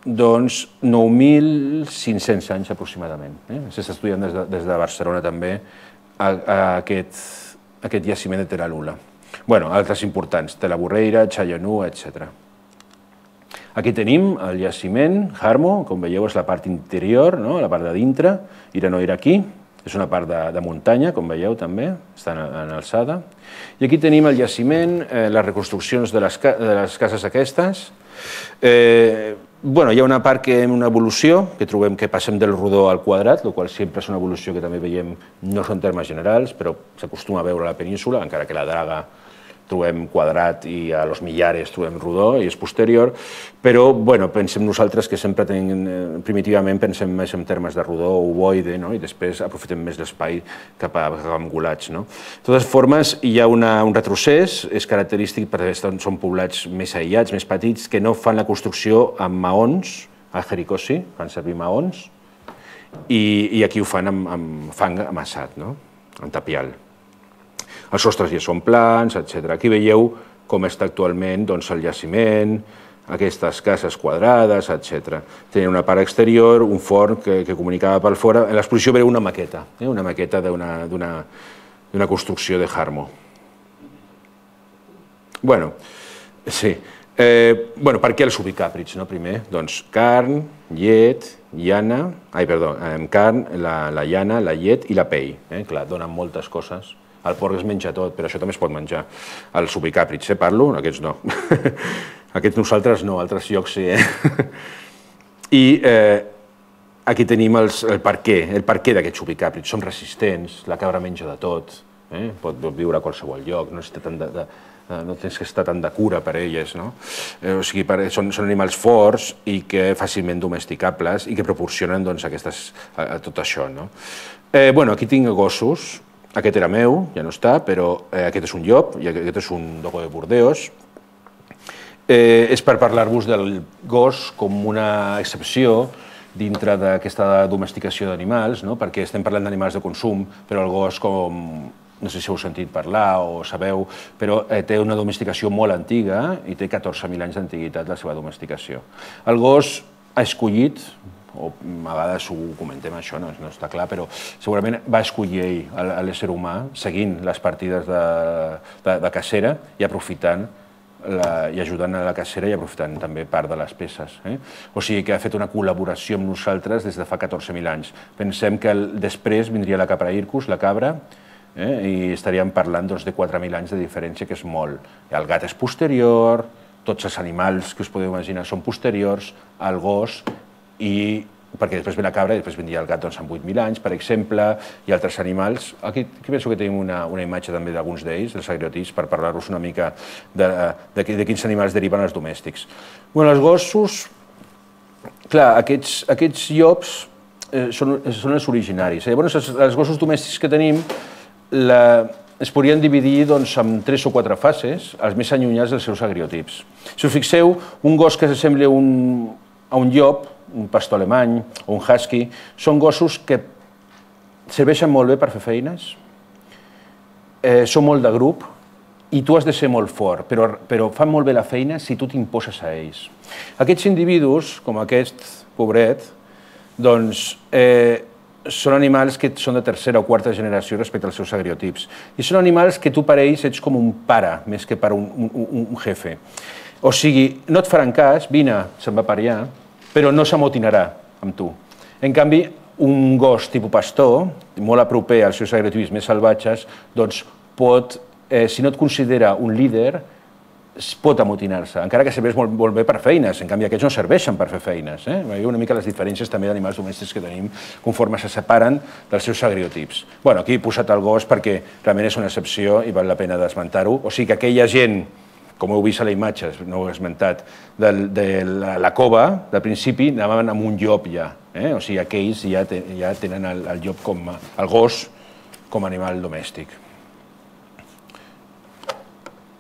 Speaker 1: doncs, nou mil cinc-cents anys aproximadament. Eh? S'està estudiant des de, des de Barcelona també a, a aquest, aquest jaciment de Telalula. Bueno, altres importants, Tela Burreira, Chayonú, etcètera. Aquí tenim el jaciment, Jarmo, com veieu és la part interior, no? La part de dintre, Irano-Iraquí, és una part de, de muntanya, com veieu també, està en, en alçada. I aquí tenim el jaciment, eh, les reconstruccions de les, de les cases aquestes. Eh, bueno, hi ha una part que una evolució, que trobem que passem del rodó al quadrat, el qual sempre és una evolució que també veiem, no són termes generals, però s'acostuma a veure a la península, encara que la Draga trobem quadrat i a Los Millares trobem rodó i és posterior, però bueno, pensem nosaltres que sempre tenim, primitivament pensem més en termes de rodó o ovoide, no? I després aprofitem més l'espai cap a, cap a angulats. No? De totes formes, hi ha una, un retrocés, és característic perquè són poblats més aïllats, més petits, que no fan la construcció amb maons, a Jericó sí, fan servir maons, i, i aquí ho fan amb, amb fang amassat, no? En tapial. Els sostres ja són plans, etcètera. Aquí veieu com està actualment doncs, el jaciment, aquestes cases quadrades, etcètera. Tenia una part exterior, un forn que, que comunicava per fora. En l'exposició veieu una maqueta, eh? Una maqueta d'una construcció de Jarmo. Bueno, sí. Eh, bueno, per què els ubicàprids, no? Primer, doncs carn, llet, llana, ai, perdó, eh, carn, la, la llana, la llet i la pell. Eh? Clar, donen moltes coses. El porc es menja tot, però això també es pot menjar. Els ubicàprids, eh, parlo? Aquests no. Aquests nosaltres no, altres llocs sí. Eh? I eh, aquí tenim els, el per què, el per què d'aquests ubicàprids. Són resistents, la cabra menja de tot, eh? Pot viure a qualsevol lloc, no, tant de, de, no tens que estar tant de cura per elles. No? Eh, o sigui, per, són, són animals forts i que fàcilment domesticables i que proporcionen doncs, aquestes, a, a tot això. No? Eh, bueno, aquí tinc gossos. Aquest era meu, ja no està, però eh, aquest és un llop i aquest és un dogo de Burdeos. Eh, és per parlar-vos del gos com una excepció dintre d'aquesta domesticació d'animals, no? Perquè estem parlant d'animals de consum, però el gos, com no sé si heu sentit parlar o sabeu, però eh, té una domesticació molt antiga i té catorze mil anys d'antiguitat la seva domesticació. El gos ha escollit, o a vegades ho comentem això, no, no està clar, però segurament va escollir ell, l'ésser humà, seguint les partides de, de, de cacera i aprofitant la, i ajudant a la cacera i aprofitant també part de les peces. Eh? O sigui que ha fet una col·laboració amb nosaltres des de fa catorze mil anys. Pensem que el, després vindria la capra Ircus, la cabra, eh? I estaríem parlant doncs, de quatre mil anys de diferència, que és molt. El gat és posterior, tots els animals que us podeu imaginar són posteriors al gos, i perquè després ve la cabra i després vindria el gat doncs, amb vuit mil anys, per exemple, i altres animals. Aquí, aquí penso que tenim una, una imatge també d'alguns d'ells, dels agriotips, per parlar-vos una mica de, de, de quins animals deriven els domèstics. Bueno, els gossos, clar, aquests, aquests llops eh, són, són els originaris. Eh? Llavors, els, els gossos domèstics que tenim la, es podrien dividir doncs, en tres o quatre fases, els més allunyats dels seus agriotips. Si us fixeu, un gos que s'assembla un, a un llop, un pastor alemany o un husky, són gossos que serveixen molt bé per fer feines, eh, són molt de grup i tu has de ser molt fort, però, però fan molt bé la feina si tu t'imposes a ells. Aquests individus, com aquest pobret, doncs eh, són animals que són de tercera o quarta generació respecte als seus agriotips. I són animals que tu per ells ets com un pare, més que per un, un, un jefe. O sigui, no et faran cas, vine, se'n va per allà, però no s'amotinarà amb tu. En canvi, un gos tipus pastor, molt a proper als seus agriotips més salvatges, doncs pot, eh, si no et considera un líder, pot amotinar-se, encara que serveix molt, molt bé per feines. En canvi, aquests no serveixen per fer feines. Eh? Veieu una mica les diferències també d'animals domèstics que tenim conforme se separen dels seus agriotips. Bueno, aquí he posat el gos perquè realment és una excepció i val la pena d'esmentar-ho. O sigui que aquella gent, com heu vist a la imatge, no ho he esmentat, de, de la, la cova, del principi, anaven amb un llop ja. Eh? O sigui, aquells ja, te, ja tenen el, el llop com a, el gos com a animal domèstic.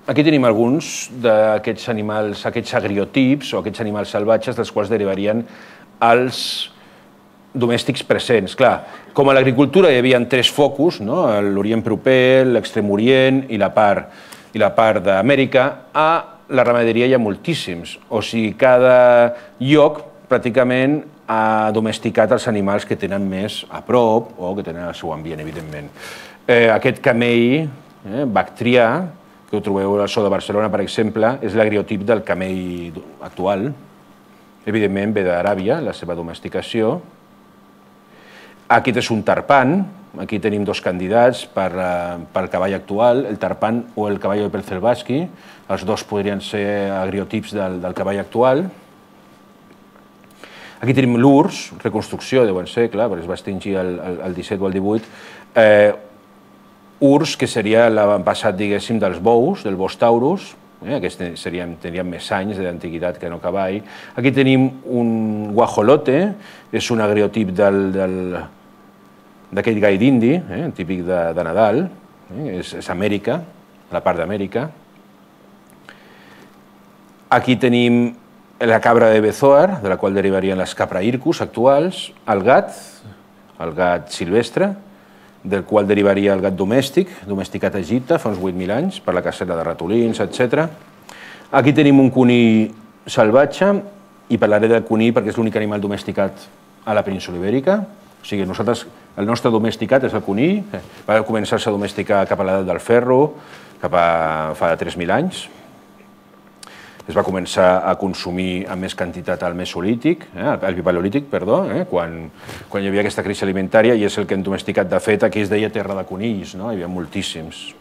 Speaker 1: Aquí tenim alguns d'aquests animals, aquests agriotips o aquests animals salvatges dels quals derivarien els domèstics presents. Clar, com a l'agricultura hi havia tres focus, no? L'Orient proper, l'Extrem Orient i la part i la part d'Amèrica, a la ramaderia hi ha moltíssims. O sigui, cada lloc pràcticament ha domesticat els animals que tenen més a prop o que tenen el seu ambient, evidentment. Eh, aquest camell eh, bactrià, que ho trobeu al zoo de Barcelona, per exemple, és l'agriotip del camell actual. Evidentment ve d'Aràbia, la seva domesticació. Aquest és un tarpan. Aquí tenim dos candidats pel cavall actual, el tarpan o el cavall de Pelzelbaski. Els dos podrien ser agriotips del cavall actual. Aquí tenim l'Urs, reconstrucció de bon segle, perquè es va extingir el disset o el divuit. Urs, que seria l'avantpassat, diguéssim, dels bous, del bos taurus. Aquests tenien més anys d'antiguitat que no cavall. Aquí tenim un guajolote, és un agriotip d'aquell gai d'indi, típic de Nadal. És Amèrica, la part d'Amèrica. Aquí tenim la cabra de Bezoar, de la qual derivarien les capraircus actuals, el gat, el gat silvestre, del qual derivaria el gat domèstic, domesticat a Egipte fa uns vuit mil anys, per la cacera de ratolins, etcètera. Aquí tenim un conill salvatge, i parlaré del conill perquè és l'únic animal domesticat a la península ibèrica. O sigui, nosaltres, el nostre domesticat és el conill, va començar-se a domesticar cap a l'edat del ferro, cap a fa tres mil anys. Es va començar a consumir amb més quantitat al Mesolític, al Paleolític, perdó, quan hi havia aquesta crisi alimentària, i és el que hem domesticat. De fet, aquí es deia terra de conills, hi havia moltíssims.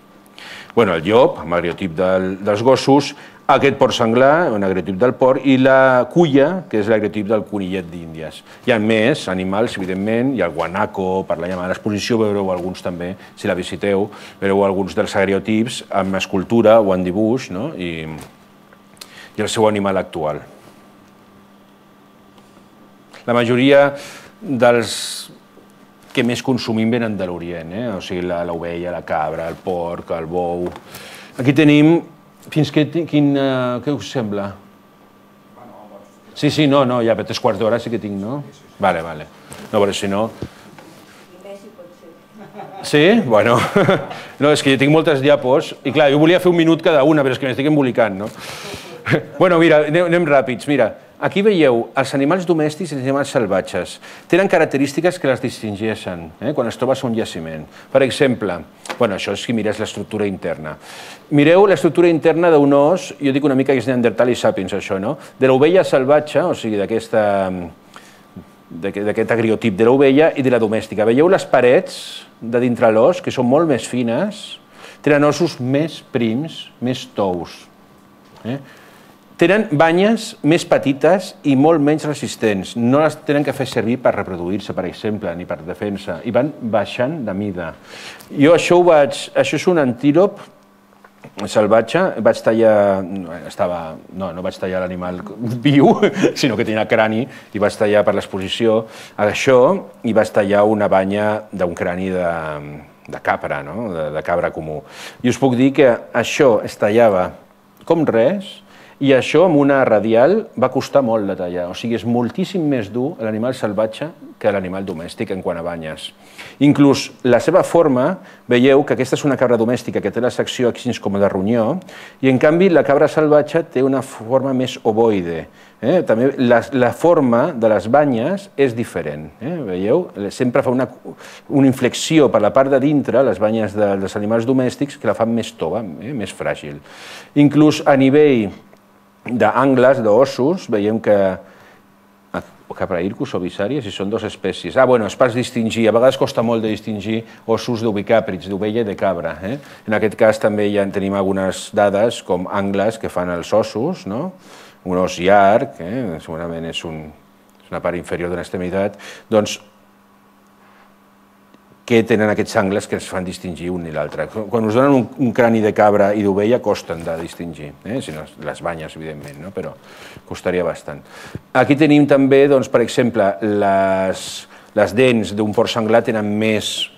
Speaker 1: El llop, amb agriotip dels gossos, aquest porc senglar, un agriotip del porc, i la culla, que és l'agriotip del conillet d'Índies. Hi ha més animals, evidentment, hi ha el guanaco, per la llamada l'exposició, veureu alguns també, si la visiteu, veureu alguns dels agriotips amb escultura o en dibuix, i i el seu animal actual. La majoria dels que més consumim venen de l'Orient, o sigui, l'ovella, la cabra, el porc, el bou. Aquí tenim... Fins que... Què us sembla? Sí, sí, no, no, ja per tres quarts d'hora sí que tinc, no? Vale, vale. No, però si no... Sí? Bueno, no, és que jo tinc moltes diapos i clar, jo volia fer un minut cada una, però és que m'estic embolicant, no? Bueno, mira, anem ràpids. Mira, aquí veieu els animals domèstics i els animals salvatges. Tenen característiques que les distingeixen quan es trobes a un jaciment. Per exemple, bueno, això és si mires l'estructura interna. Mireu l'estructura interna d'un os, jo dic una mica que és Neandertal i Sapiens, això, no? De l'ovella salvatge, o sigui, d'aquesta... d'aquest agriotip de l'ovella i de la domèstica. Veieu les parets de dintre l'os, que són molt més fines, tenen ossos més prims, més tous. Tenen banyes més petites i molt menys resistents. No les tenen que fer servir per reproduir-se, per exemple, ni per defensa, i van baixant de mida. Jo això ho vaig... Això és un antílop salvatge, vaig tallar... No, no vaig tallar l'animal viu, sinó que tenia crani, i vaig tallar per l'exposició això, i vaig tallar una banya d'un crani de capra, de cabra comú. I us puc dir que això es tallava com res, i això amb una radial va costar molt de tallar. O sigui, és moltíssim més dur l'animal salvatge que l'animal domèstic en quant a banyes. Inclús la seva forma, veieu que aquesta és una cabra domèstica que té la secció així com de ronyó, i en canvi la cabra salvatge té una forma més ovoide. També la forma de les banyes és diferent. Veieu? Sempre fa una inflexió per la part de dintre, les banyes dels animals domèstics, que la fan més tova, més fràgil. Inclús a nivell d'angles, d'ossos, veiem que Capraircus o Visàries, i són dues espècies. Ah, bueno, és per distingir, a vegades costa molt de distingir ossos d'ovicàprids, d'ovella i de cabra. En aquest cas també ja en tenim algunes dades com angles que fan els ossos, un os llarg, segurament és una part inferior d'una extremitat, doncs que tenen aquests angles que ens fan distingir un i l'altre. Quan us donen un crani de cabra i d'ovella costen de distingir, les banyes, evidentment, però costaria bastant. Aquí tenim també, per exemple, les dents d'un porc senglar tenen més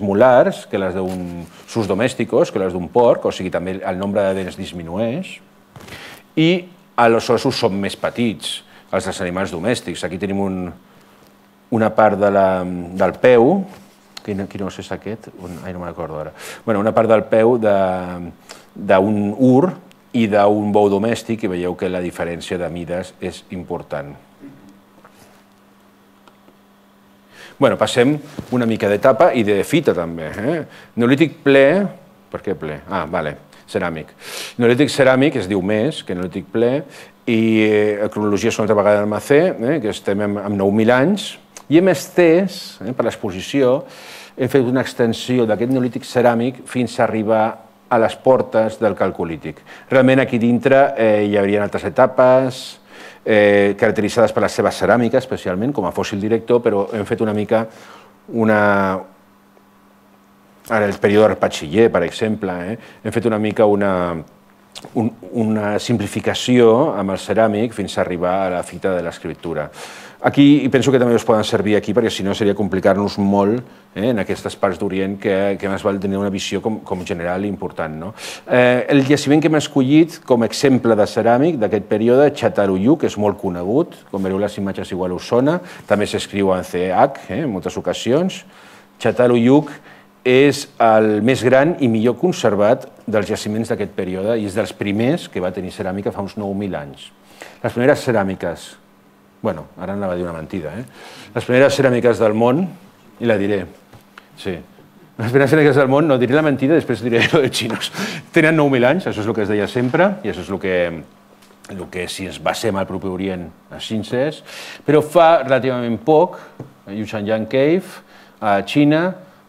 Speaker 1: molars que les d'un sus domèsticos, que les d'un porc, o sigui, també el nombre de dents disminueix, i els ossos són més petits, els dels animals domèstics. Aquí tenim un... una part del peu, quin os és aquest? Ai, no me'n recordo ara. Una part del peu d'un ur i d'un bou domèstic, i veieu que la diferència de mides és important. Passem una mica d'etapa i de fita, també. Neolític ple... Per què ple? Ah, vale, ceràmic. Neolític ceràmic es diu més que neolític ple, i la cronologia és una altra vegada del Macé, que estem amb nou mil anys, I hem estès, per l'exposició, hem fet una extensió d'aquest neolític ceràmic fins a arribar a les portes del calcolític. Realment aquí dintre hi haurien altres etapes, caracteritzades per la seva ceràmica, especialment, com a fòssil director, però hem fet una mica una... En el període Patxiller, per exemple, hem fet una mica una... una simplificació amb el ceràmic fins a arribar a la fita de l'escriptura. Aquí penso que també us poden servir aquí, perquè si no seria complicar-nos molt en aquestes parts d'Orient que més val tenir una visió com general i important. El jaciment que hem escollit com a exemple de ceràmic d'aquest període, Çatalhöyük, és molt conegut, com veureu les imatges igual us sona, també s'escriu en ce hac en moltes ocasions. Çatalhöyük és el més gran i millor conservat dels jaciments d'aquest període i és dels primers que va tenir ceràmica fa uns nou mil anys. Les primeres ceràmiques, bueno, ara anava a dir una mentida, eh? Les primeres ceràmiques del món, i la diré, sí, les primeres ceràmiques del món, no diré la mentida, després diré lo de xinos, tenen nou mil anys, això és el que es deia sempre, i això és el que, el que si ens basem al propi Orient, així és, però fa relativament poc, a Yuchanyan Cave, a Xina,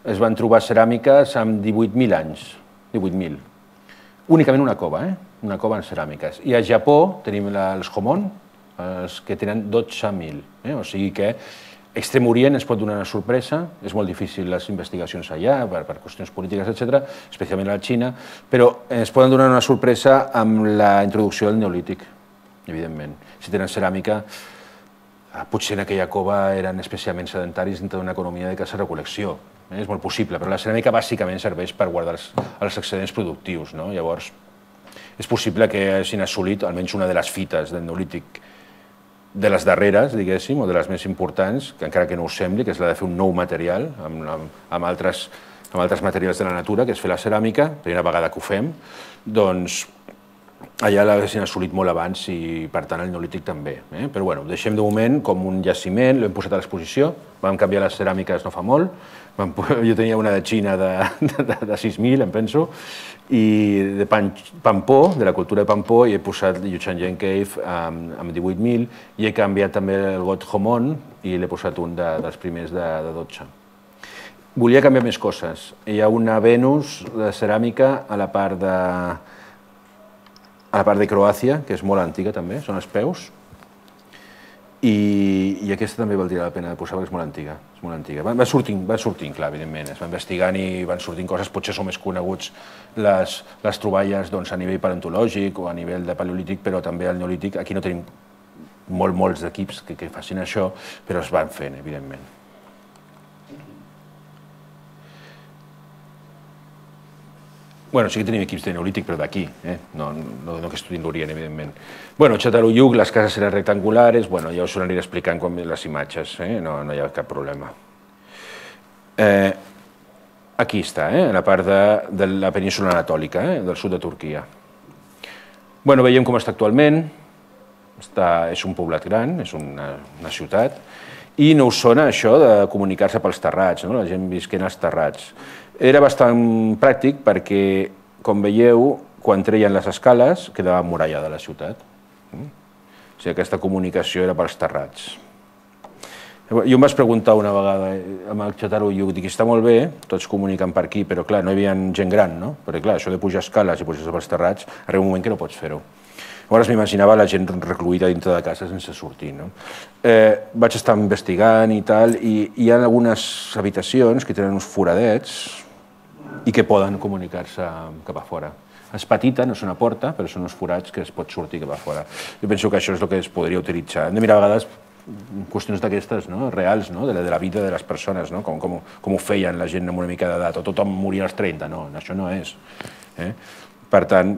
Speaker 1: es van trobar ceràmiques amb divuit mil anys, divuit mil. Únicament una cova, eh? Una cova en ceràmiques. I a Japó tenim els Homon, els que tenen dotze mil. O sigui que Extrem Orient ens pot donar una sorpresa, és molt difícil les investigacions allà, per qüestions polítiques, etcètera, especialment a la Xina, però ens poden donar una sorpresa amb la introducció del neolític, evidentment. Si tenen ceràmica, potser en aquella cova eren especialment sedentaris dintre d'una economia de caça-recol·lecció. És molt possible, però la ceràmica bàsicament serveix per guardar els excedents productius. Llavors, és possible que hagin assolit almenys una de les fites del neolític de les darreres, diguéssim, o de les més importants, que encara que no us sembli, que és la de fer un nou material amb altres materials de la natura, que és fer la ceràmica, primera vegada que ho fem, doncs allà l'haguessin assolit molt abans i, per tant, el neolític també. Però, bueno, ho deixem de moment com un jaciment, l'hem posat a l'exposició, vam canviar les ceràmiques no fa molt, jo tenia una de Xina de sis mil, em penso, i de Pampó, de la cultura de Pampó, i he posat Yuchanyan Cave amb divuit mil, i he canviat també el got Homon, i l'he posat un dels primers de dotze. Volia canviar més coses. Hi ha una Venus de ceràmica a la part de... a la part de Croàcia, que és molt antiga també, són els peus, i aquesta també valdria la pena de posar perquè és molt antiga. És molt antiga. Va sortint, clar, evidentment, es va investigant i van sortint coses, potser són més coneguts les troballes a nivell paleontològic o a nivell de paleolític, però també al neolític. Aquí no tenim molts equips que facin això, però es van fent, evidentment. Bueno, sí que tenim equips de neolític, però d'aquí, no que estudien l'Orient, evidentment. Bueno, Çatalhöyük, les cases eren rectangulares, bueno, ja us ho aniré explicant com les imatges, no hi ha cap problema. Aquí està, a la part de la península anatòlica, del sud de Turquia. Bueno, veiem com està actualment, és un poblat gran, és una ciutat, i no us sona això de comunicar-se pels terrats, la gent visquent als terrats. Era bastant pràctic perquè, com veieu, quan treien les escales, quedava emmurallada la ciutat. O sigui, aquesta comunicació era pels terrats. Jo em vaig preguntar una vegada amb el Çatalhöyük, dic, està molt bé, tots comuniquen per aquí, però clar, no hi havia gent gran, no? Perquè clar, això de pujar escales i pujar-se pels terrats, arriba un moment que no pots fer-ho. Llavors m'imaginava la gent recluïda dintre de casa sense sortir. Vaig estar investigant i tal, i hi ha algunes habitacions que tenen uns foradets i que poden comunicar-se cap a fora. És petita, no és una porta, però són uns forats que es pot sortir cap a fora. Jo penso que això és el que es podria utilitzar. Hem de mirar a vegades qüestions d'aquestes, reals, de la vida de les persones, com ho feien la gent amb una mica d'edat, o tothom moria als trenta, no, això no és. Per tant,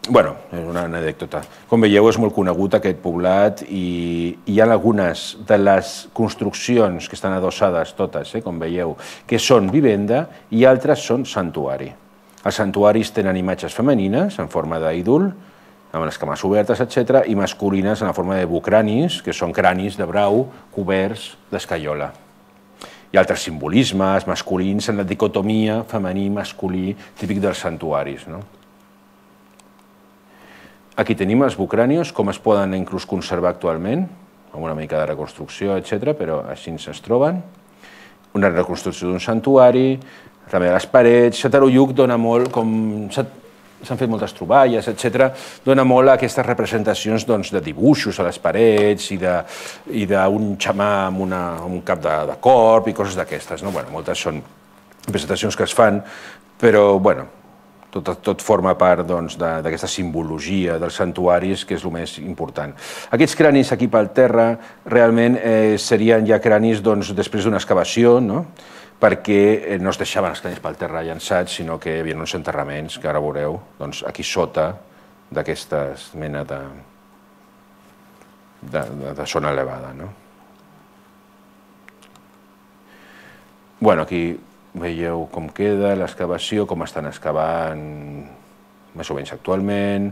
Speaker 1: Bueno, és una anècdota. Com veieu, és molt conegut aquest poblat i hi ha algunes de les construccions que estan adossades totes, com veieu, que són vivenda i altres són santuari. Els santuaris tenen imatges femenines en forma d'ídol, amb les cames obertes, etcètera, i masculines en la forma de bucranis, que són cranis de brau coberts d'escaiola. Hi ha altres simbolismes masculins en la dicotomia femení-masculí típic dels santuaris. Aquí tenim els bucranios, com es poden inclús conservar actualment. amb una mica de reconstrucció, etcètera, però així es troben. Una reconstrucció d'un santuari, també de les parets. Xatarulluc dona molt, com s'han fet moltes troballes, etcètera, dona molt a aquestes representacions de dibuixos a les parets i d'un xamà amb un cap de corp i coses d'aquestes. Moltes són representacions que es fan, però tot forma part d'aquesta simbologia dels santuaris, que és el més important. Aquests cranis aquí pel terra realment serien ja cranis després d'una excavació, perquè no es deixaven els cranis pel terra llançats, sinó que hi havia uns enterraments, que ara veureu, aquí sota d'aquesta mena de zona elevada. Aquí veieu com queda l'excavació, com estan excavant més o menys actualment.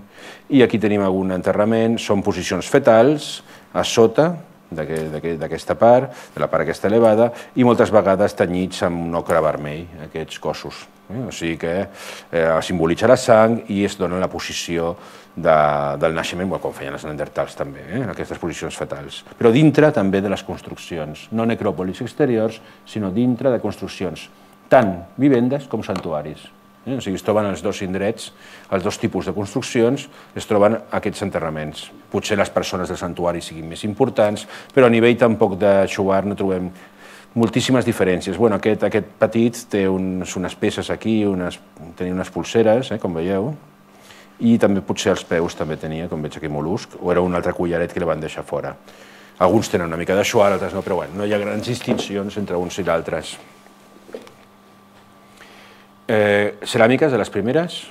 Speaker 1: I aquí tenim algun enterrament, són posicions fetals a sota d'aquesta part, de la part aquesta elevada, i moltes vegades tenyits amb un ocre vermell, aquests cossos. O sigui que simbolitza la sang i es dona la posició del naixement, com feien els neandertals també, en aquestes posicions fetals. Però dintre també de les construccions, no necròpolis exteriors, sinó dintre de construccions, tant vivendes com santuaris. O sigui, es troben els dos indrets, els dos tipus de construccions, es troben aquests enterraments. Potser les persones del santuari siguin més importants, però a nivell tampoc de Xóvar no trobem moltíssimes diferències. Aquest petit té unes peces aquí, tenia unes polseres, com veieu, i també potser els peus també tenia, com veig aquí, mol·lusc, o era un altre collaret que li van deixar fora. Alguns tenen una mica de Xóvar, altres no, però no hi ha grans distincions entre uns i d'altres. Ceràmiques de les primeres,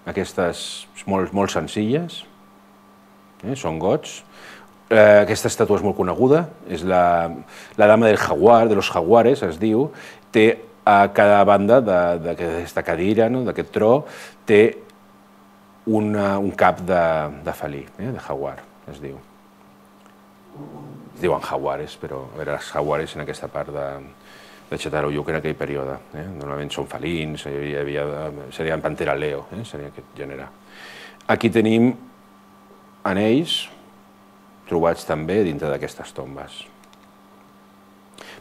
Speaker 1: aquestes molt senzilles, són gots. Aquesta estàtua és molt coneguda, és la dama del jaguar, de los jaguares, es diu. Té a cada banda d'aquesta cadira, d'aquest tro, té un cap de felí, de jaguar, es diu. Es diuen jaguares, però eren els jaguares en aquesta part de... de Xatarulluc en aquell període. Normalment són felins, serien Pantera leo, seria aquest gènere. Aquí tenim anells trobats també dintre d'aquestes tombes.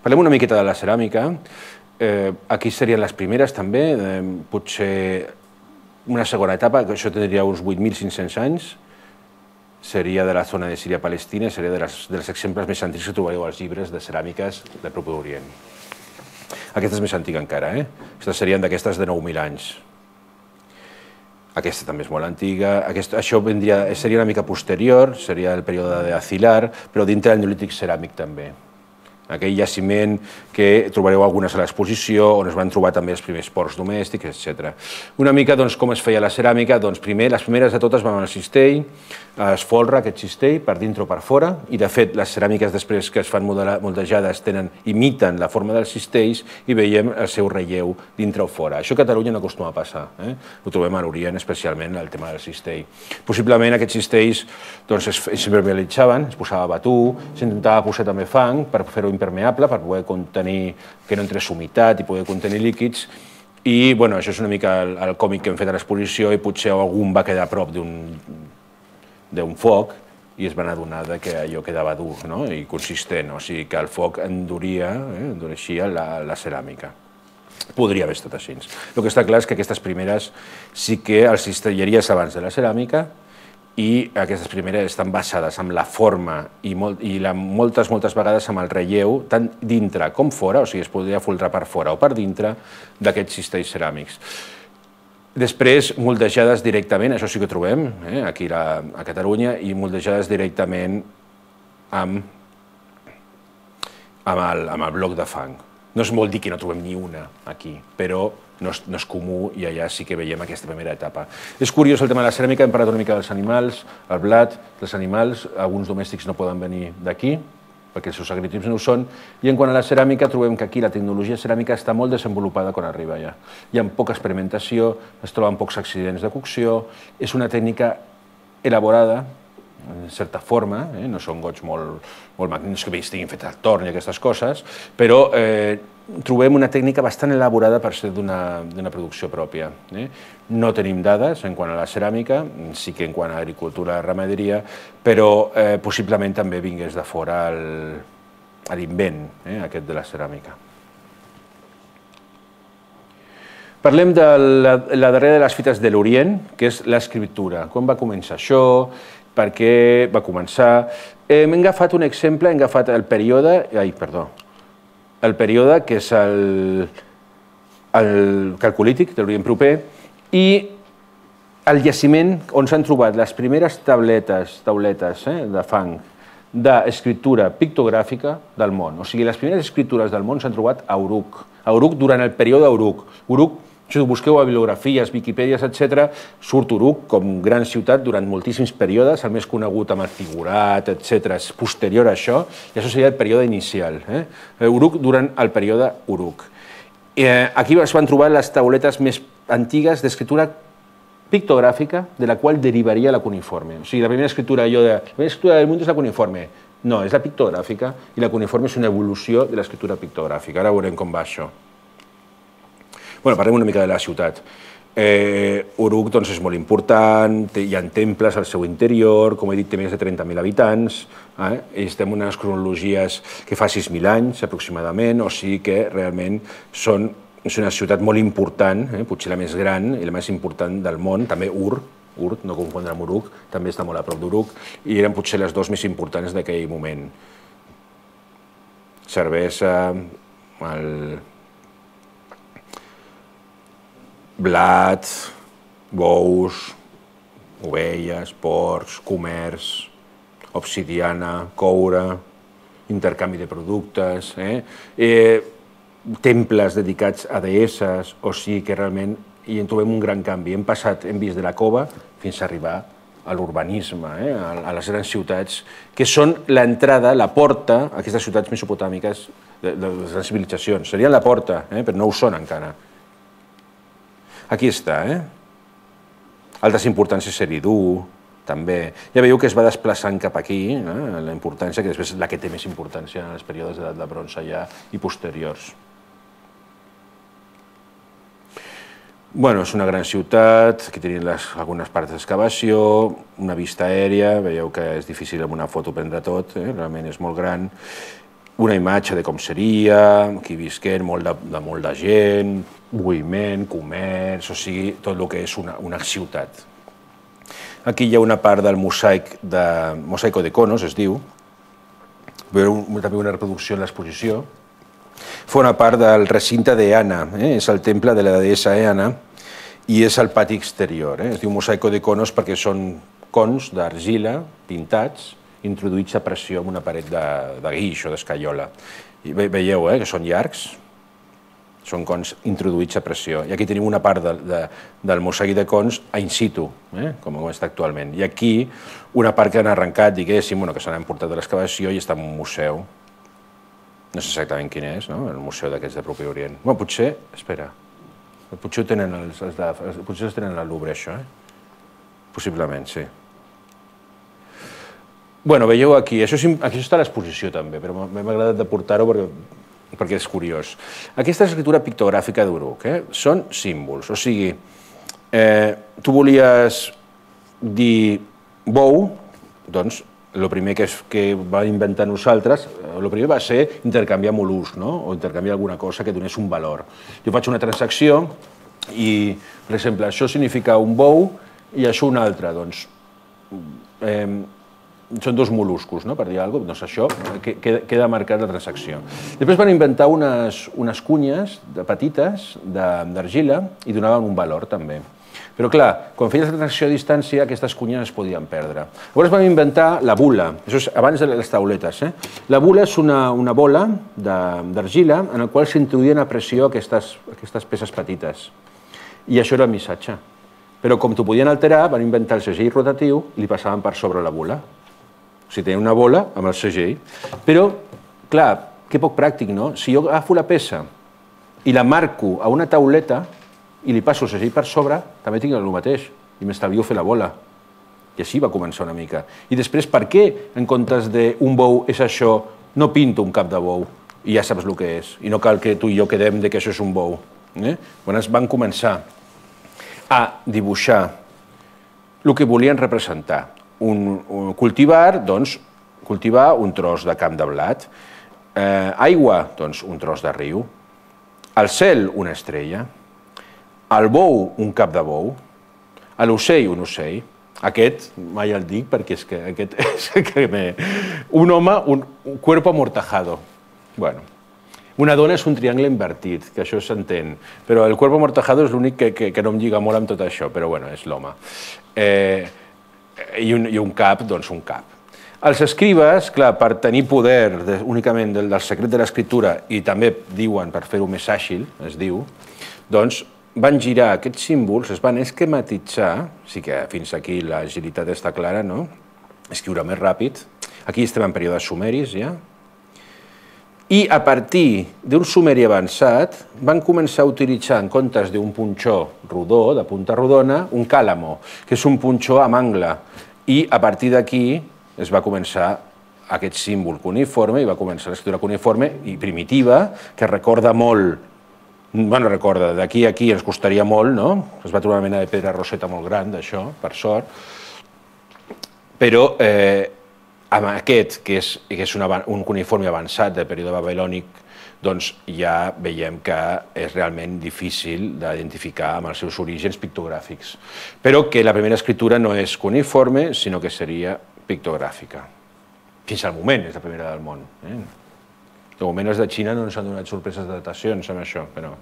Speaker 1: Parlem una miqueta de la ceràmica. Aquí serien les primeres també, potser una segona etapa, que això tindria uns vuit mil cinc-cents anys, seria de la zona de Síria-Palestina, seria dels exemples més antics que trobareu als llibres de ceràmiques del Proper Orient. Aquesta és més antiga encara, aquestes serien d'aquestes de nou mil anys. Aquesta també és molt antiga, això seria una mica posterior, seria el període d'Acilar, però dintre del Neolític ceràmic també. Aquell jaciment que trobareu algunes a l'exposició, on es van trobar també els primers porcs domèstics, etcètera. Una mica com es feia la ceràmica, doncs primer, les primeres de totes van al cistell, es folra aquest cistell per dintre o per fora, i de fet les ceràmiques després que es fan moldejades imiten la forma dels cistells i veiem el seu relleu dintre o fora. Això a Catalunya no acostuma a passar, ho trobem a l'Orient especialment, el tema del cistell. Possiblement aquests cistells s'impermeabilitzaven, es posava batú, s'intentava posar també fang per fer-ho impermeable, per poder contenir, que no entrés humitat i poder contenir líquids, i això és una mica el còmic que hem fet a l'exposició i potser algun va quedar a prop d'un foc i es van adonar que allò quedava dur i consistent, o sigui que el foc enduria, endureixia la ceràmica. Podria haver estat així. El que està clar és que aquestes primeres sí que els cistelleries abans de la ceràmica, i aquestes primeres estan basades en la forma i moltes, moltes vegades amb el relleu, tant dintre com fora, o sigui, es podria folrar per fora o per dintre d'aquests cistells ceràmics. Després, moldejades directament, això sí que trobem aquí a Catalunya, i moldejades directament amb el bloc de fang. No es vol dir que no trobem ni una aquí, però no és comú i allà sí que veiem aquesta primera etapa. És curiós el tema de la ceràmica, hem parlat una mica dels animals, el blat, dels animals, alguns domèstics no poden venir d'aquí, perquè els seus agritips no ho són, i en quant a la ceràmica trobem que aquí la tecnologia ceràmica està molt desenvolupada quan arriba allà. Hi ha poca experimentació, es troben pocs accidents de cocció, és una tècnica elaborada, en certa forma, no són gots molt magnífics que estiguin fets al torn i aquestes coses, però trobem una tècnica bastant elaborada per ser d'una producció pròpia. No tenim dades en quant a la ceràmica, sí que en quant a agricultura i ramaderia, però possiblement també vingués de fora l'invent aquest de la ceràmica. Parlem de la darrera de les fites de l'Orient, que és l'escriptura. Com va començar això? Per què va començar? Hem agafat un exemple, hem agafat el període... Ai, perdó. El període que és el calcolític de l'Orient proper i el jaciment on s'han trobat les primeres tauletes de fang d'escriptura pictogràfica del món. O sigui, les primeres escriptures del món s'han trobat a Uruk. A Uruk durant el període Uruk. Uruk, si busqueu a bibliografies, Viquipèdies, etcètera, surt Uruk com gran ciutat durant moltíssims períodes, el més conegut amb el figurat, etcètera, és posterior a això, i això seria el període inicial. Uruk durant el període Uruk. Aquí es van trobar les tauletes més antigues d'escriptura pictogràfica de la qual derivaria la cuneiforme. O sigui, la primera escriptura del món és la cuneiforme. No, és la pictogràfica i la cuneiforme és una evolució de l'escriptura pictogràfica. Ara veurem com va això. Bé, parlem una mica de la ciutat. Uruk és molt important, hi ha temples al seu interior, com he dit, té més de trenta mil habitants, estem en unes cronologies que fa sis mil anys aproximadament, o sigui que realment són És una ciutat molt important, potser la més gran i la més important del món, també Ur, Ur, no confondre amb Uruk, també està molt a prop d'Uruk, i eren potser les dues més importants d'aquell moment. Cervesa, el blat, bous, ovelles, porcs, comerç, obsidiana, coure, intercanvi de productes, temples dedicats a deesses, o sigui que realment hi trobem un gran canvi. Hem passat, hem vist de la cova fins a arribar a l'urbanisme, a les grans ciutats, que són l'entrada, la porta a aquestes ciutats mesopotàmiques de les grans civilitzacions. Serien la porta, però no ho són encara. Aquí està. Altres importàncies Eridu, també. Ja veieu que es va desplaçant cap aquí, la importància, que després és la que té més importància en els períodes d'edat de bronze ja i posteriors. Bueno, és una gran ciutat, aquí tenim algunes parts d'excavació, una vista aèria, veieu que és difícil amb una foto prendre tot, realment és molt gran, una imatge de com seria, aquí visquent, molt de gent, moviment, comerç, o sigui, tot el que és una ciutat. Aquí hi ha una part del mosaic, mosaico de Conos, es diu, també una reproducció en l'exposició. Forma part del recinte d'Eana, és el temple de la deessa Eana i és el pati exterior. Es diu mosaico de Conos perquè són cons d'argila pintats, introduïts a pressió en una paret de guix o d'escaiola. Veieu que són llargs, són cons introduïts a pressió. I aquí tenim una part del mosaic de cons in situ, com està actualment. I aquí una part que han arrencat, diguéssim, que se n'han portat de l'excavació i està en un museu. No sé exactament quin és, el museu d'aquests de Propi Orient. Bé, potser, espera, potser ho tenen al Louvre, això, possiblement, sí. Bé, veieu aquí, això està a l'exposició també, però m'ha agradat de portar-ho perquè és curiós. Aquesta és l'escriptura pictogràfica d'Uruk, són símbols, o sigui, tu volies dir bou, doncs, el primer que va inventar nosaltres, el primer va ser intercanviar mol·luscs, o intercanviar alguna cosa que donés un valor. Jo faig una transacció i, per exemple, això significa un bou i això un altre, doncs, són dos mol·luscos, per dir alguna cosa, doncs això queda marcat la transacció. Després van inventar unes cunyes petites d'argila i donaven un valor també. Però clar, quan feies la transacció a distància, aquestes cunyes es podien perdre. Llavors vam inventar la bula, això és abans de les tauletes. La bula és una bola d'argila en la qual s'introduïen a pressió aquestes peces petites. I això era el missatge. Però com t'ho podien alterar, van inventar el segell rotatiu i li passaven per sobre la bula. O sigui, tenien una bola amb el segell. Però, clar, que poc pràctic, no? Si jo agafo la peça i la marco a una tauleta i li passo el segell per sobre, també tinc el mateix i m'estalvio fer la bola. I així va començar una mica. I després, per què, en comptes d'un bou és això, no pinto un cap de bou i ja saps el que és? I no cal que tu i jo quedem que això és un bou. Quan es van començar a dibuixar el que volien representar. Cultivar, doncs, cultivar un tros de camp de blat. Aigua, doncs, un tros de riu. El cel, una estrella. El bou, un cap de bou. L'ocell, un ocell. Aquest, mai el dic, perquè és que aquest és que me... Un home, un cuerpo amortajado. Bueno, una dona és un triangle invertit, que això s'entén, però el cuerpo amortajado és l'únic que, que, que no em lliga molt amb tot això, però bueno, és l'home. Eh, i, un, I un cap, doncs un cap. Els escribes, clar, per tenir poder de, únicament del, del secret de l'escriptura, i també diuen per fer-ho més àgil, es diu, doncs van girar aquests símbols, es van esquematitzar, sí que fins aquí l'agilitat està clara, no? Escriure més ràpid. Aquí estem en períodes sumeris, ja. I a partir d'un sumeri avançat van començar a utilitzar, en comptes d'un punxó rodó, de punta rodona, un càlamo, que és un punxó amb angle. I a partir d'aquí es va començar aquest símbol cuneiforme i va començar l'escriptura cuneiforme i primitiva, que recorda molt. Bueno, recorda, d'aquí a aquí ens costaria molt, no? Es va trobar una mena de pedra roseta molt gran, d'això, per sort. Però eh, amb aquest, que és, que és una, un cuneiforme avançat del període babilònic, doncs ja veiem que és realment difícil d'identificar amb els seus orígens pictogràfics. Però que la primera escriptura no és cuneiforme, sinó que seria pictogràfica. Fins al moment és la primera del món. Eh? De moment els de Xina no ens han donat sorpreses de datacions amb això, però...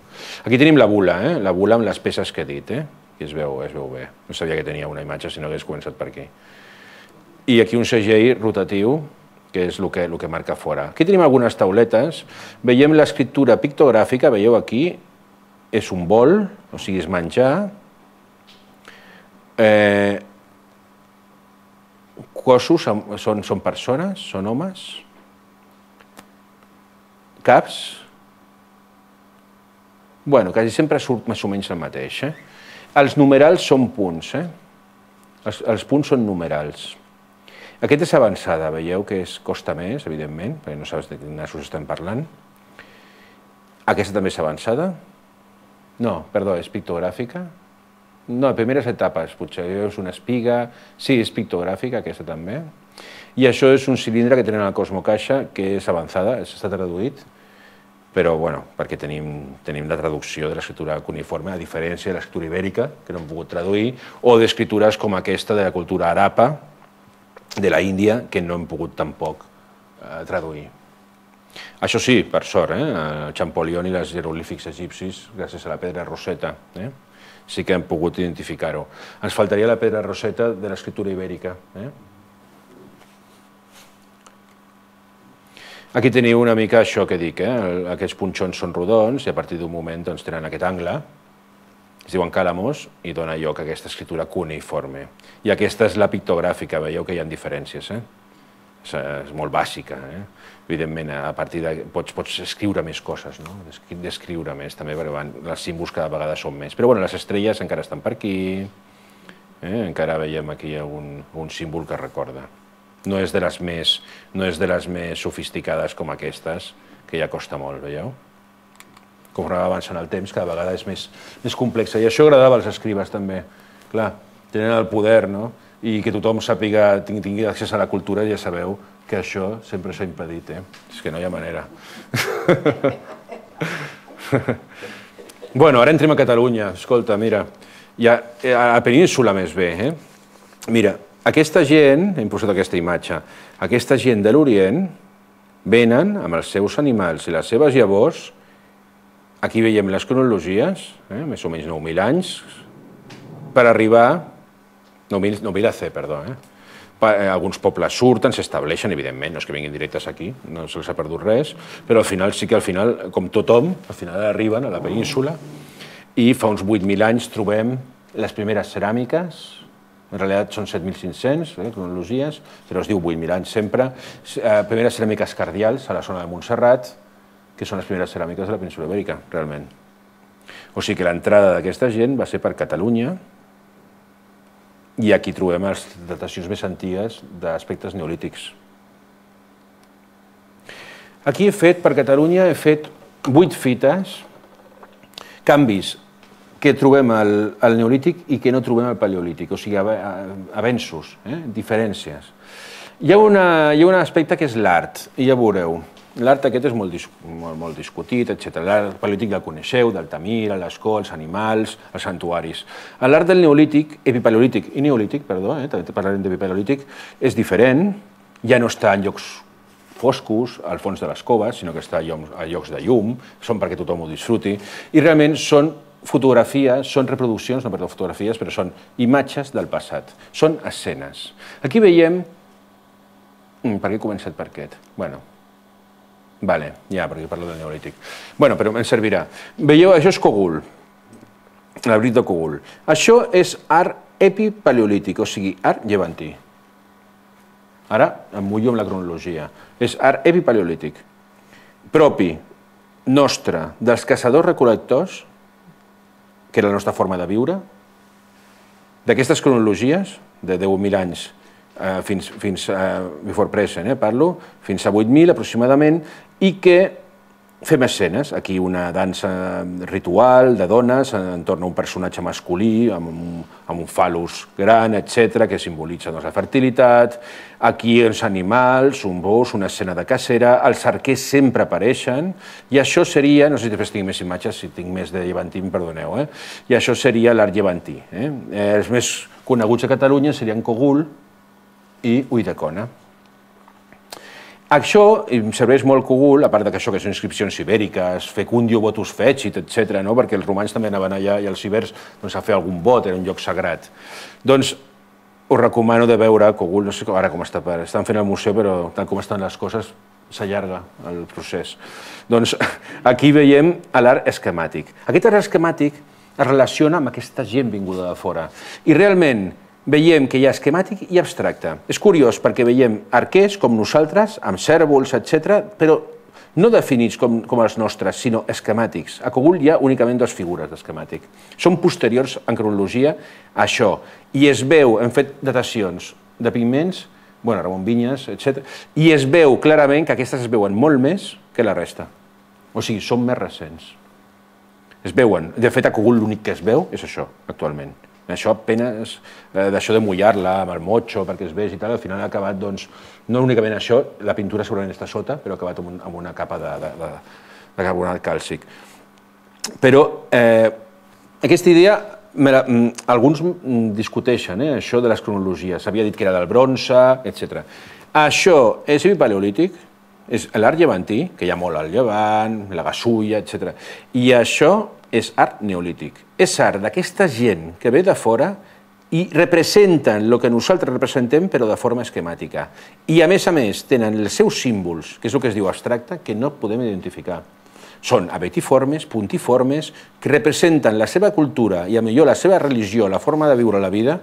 Speaker 1: Aquí tenim la bula, eh? La bula amb les peces que he dit, eh? I es veu, es veu bé. No sabia que tenia una imatge si no hagués començat per aquí. I aquí un segell rotatiu, que és el que, el que marca fora. Aquí tenim algunes tauletes. Veiem l'escriptura pictogràfica, veieu aquí, és un bol, o sigui, és menjar. Eh... Cossos són, són persones, són homes. Caps, bueno, quasi sempre surt més o menys el mateix. Eh? Els numerals són punts, eh? els, els punts són numerals. Aquesta és avançada, veieu que es costa més, evidentment, perquè no saps de quin nassos estem parlant. Aquesta també és avançada? No, perdó, és pictogràfica? No, primeres etapes, potser és una espiga, sí, és pictogràfica, aquesta també. I això és un cilindre que tenen al Cosmocaixa, que és avançada, està traduït, però bueno, perquè tenim, tenim la traducció de l'escriptura cuneiforme, a diferència de l'escriptura ibèrica, que no hem pogut traduir, o d'escriptures com aquesta de la cultura arapa, de la Índia, que no hem pogut tampoc eh, traduir. Això sí, per sort, eh? El Champollion i els jeroglífics egipcis, gràcies a la pedra roseta, eh? Sí que hem pogut identificar-ho. Ens faltaria la pedra roseta de l'escriptura ibèrica. Eh? Aquí teniu una mica això que dic, eh? Aquests punxons són rodons i a partir d'un moment doncs, tenen aquest angle, es diuen càlamos, i dona lloc a aquesta escriptura cuneiforme. I aquesta és la pictogràfica, veieu que hi ha diferències. Eh? És, és molt bàsica. Eh? Evidentment, a partir de... Pots, pots escriure més coses, no? Descriure més, també, perquè van, els símbols cada vegada són més. Però bueno, les estrelles encara estan per aquí, eh? Encara veiem aquí algun, algun símbol que recorda. No és de les més, no és de les més sofisticades com aquestes, que ja costa molt, veieu? Com va avançant el temps, cada vegada és més, més complexa. I això agradava als escribes, també. Clar, tenen el poder, no? I que tothom sàpiga, tingui accés a la cultura, ja sabeu que això sempre s'ha impedit, eh? És que no hi ha manera. Bueno, ara entrem a Catalunya. Escolta, mira, ja, a la península més bé, eh? Mira, aquesta gent, hem posat aquesta imatge, aquesta gent de l'Orient venen amb els seus animals i les seves llavors, aquí veiem les cronologies, eh, més o menys nou mil anys, per arribar, nou mil A C, perdó, eh, alguns pobles surten, s'estableixen, evidentment, no és que vinguin directes aquí, no se'ls ha perdut res, però al final sí que al final, com tothom, al final arriben a la península i fa uns vuit mil anys trobem les primeres ceràmiques, en realitat són set mil cinc-cents eh, cronologies, però es diu vuit mil anys sempre, eh, primeres ceràmiques cardials a la zona de Montserrat, que són les primeres ceràmiques de la península ibèrica, realment. O sigui que l'entrada d'aquesta gent va ser per Catalunya, i aquí trobem les datacions més antigues d'aspectes neolítics. Aquí he fet, per Catalunya, he fet vuit fites, canvis que trobem al neolític i que no trobem al paleolític, o sigui, avenços, diferències. Hi ha un aspecte que és l'art, i ja veureu. L'art aquest és molt discutit, etcètera. L'art paleolític ja el coneixeu, d'Altamira, l'escó, els animals, els santuaris. L'art del neolític, epipaleolític i neolític, perdó, també parlarem d'epipaleolític, és diferent, ja no està en llocs foscos, al fons de les coves, sinó que està a llocs de llum, són perquè tothom ho disfruti, i realment són fotografies, són reproduccions, no perdó, fotografies, però són imatges del passat, són escenes. Aquí veiem... Per què he començat per aquest? Bueno, vale, ja, perquè parlo del neolític. Bueno, però em servirà. Veieu, això és Cogul, l'abrit de Cogul. Això és art epipaleolític, o sigui, art llevantí. Ara em mullo amb la cronologia. És art epipaleolític, propi, nostre, dels caçadors-recol·lectors, que era la nostra forma de viure, d'aquestes cronologies, de deu mil anys, fins before present, parlo, fins a vuit mil aproximadament, i que fem escenes. Aquí una dansa ritual de dones entorn a un personatge masculí amb un fal·lus gran, etcètera, que simbolitza la fertilitat. Aquí els animals, un gos, una escena de cacera, els arquers sempre apareixen, i això seria, no sé si després tinc més imatges, si tinc més de llevantí, em perdoneu, i això seria l'art llevantí. Els més coneguts a Catalunya serien Cogul i Ulldecona. Això em serveix molt Cogul, a part d'això que són inscripcions ibèriques, fecundio votus fecit, etcètera, perquè els romans també anaven allà i els ibers a fer algun vot, era un lloc sagrat. Doncs us recomano de veure Cogul, no sé ara com està, estan fent al museu, però tal com estan les coses s'allarga el procés. Doncs aquí veiem l'art esquemàtic. Aquest art esquemàtic es relaciona amb aquesta gent vinguda de fora. I realment veiem que hi ha esquemàtic i abstracte. És curiós perquè veiem arquers com nosaltres, amb cèrvols, etcètera, però no definits com els nostres, sinó esquemàtics. A Cogul hi ha únicament dues figures d'esquemàtic. Són posteriors en cronologia a això. I es veu, hem fet datacions de pigments, bueno, Ramon Vinyes, etcètera, i es veu clarament que aquestes es veuen molt més que la resta. O sigui, són més recents. Es veuen. De fet, a Cogul l'únic que es veu és això, actualment. Això apenas, d'això de mullar-la amb el motxo perquè es vegi i tal, al final ha acabat, doncs, no únicament això, la pintura segurament està sota, però ha acabat amb una capa de carbonat càlcic. Però aquesta idea, alguns discuteixen, això de les cronologies, s'havia dit que era del bronze, etcètera. Això és epipaleolític, és l'art llevantí, que hi ha molt al llevant, la gasulla, etcètera, i això és art neolític. És art d'aquesta gent que ve de fora i representen el que nosaltres representem, però de forma esquemàtica. I, a més a més, tenen els seus símbols, que és el que es diu abstracte, que no podem identificar. Són abetiformes, puntiformes, que representen la seva cultura i, a millor, la seva religió, la forma de viure la vida,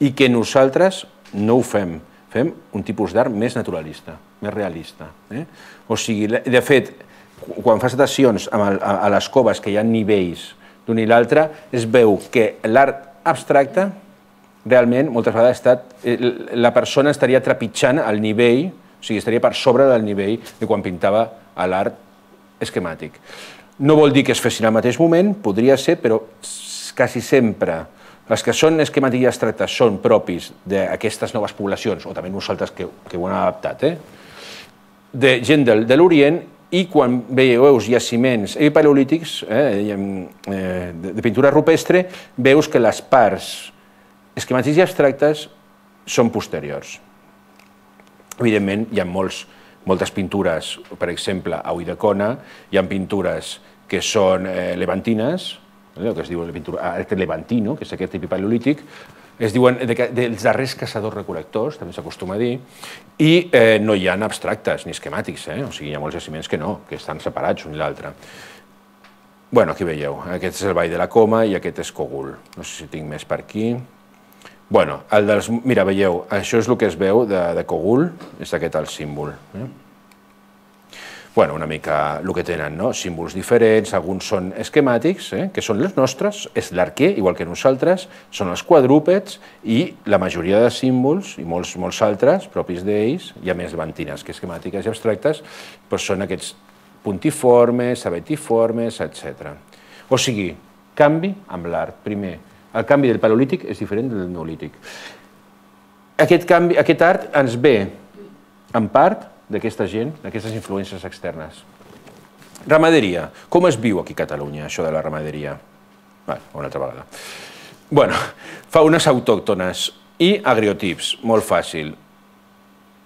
Speaker 1: i que nosaltres no ho fem. Fem un tipus d'art més naturalista, més realista. O sigui, de fet, quan fas datacions a les coves que hi ha nivells d'un i l'altre, es veu que l'art abstracte realment moltes vegades ha estat, la persona estaria trepitjant el nivell, o sigui, estaria per sobre del nivell de quan pintava l'art esquemàtic. No vol dir que es fessin al mateix moment, podria ser, però quasi sempre els que són esquemàtics i abstractes són propis d'aquestes noves poblacions, o també nosaltres que ho hem adaptat, de gent de l'Orient. I quan veieu jaciments epipaleolítics de pintura rupestre, veus que les parts esquemàtics i abstractes són posteriors. Evidentment, hi ha moltes pintures, per exemple, a Ulldecona, hi ha pintures que són levantines, el que es diu art levantino, que és aquest epipaleolític, es diuen dels darrers caçadors-recol·lectors, també s'acostuma a dir, i no hi ha abstractes ni esquemàtics, o sigui, hi ha molts jaciments que no, que estan separats un i l'altre. Bé, aquí veieu, aquest és el Vall de la Coma i aquest és Cogul. No sé si tinc més per aquí. Bé, mira, veieu, això és el que es veu de Cogul, és aquest el símbol. bueno, una mica el que tenen, no? Símbols diferents, alguns són esquemàtics, eh? que són els nostres, és l'arquer, igual que nosaltres, són els quadrúpeds i la majoria de símbols, i molts, molts altres, propis d'ells, hi ha més levantines que esquemàtiques i abstractes, però són aquests puntiformes, abetiformes, etcètera. O sigui, canvi amb l'art. Primer, el canvi del paleolític és diferent del neolític. Aquest, canvi, aquest art ens ve, en part, d'aquesta gent, d'aquestes influències externes. Ramaderia. Com es viu aquí a Catalunya, això de la ramaderia? Bé, una altra vegada. Bueno, faunes autòctones i agriotips, molt fàcil.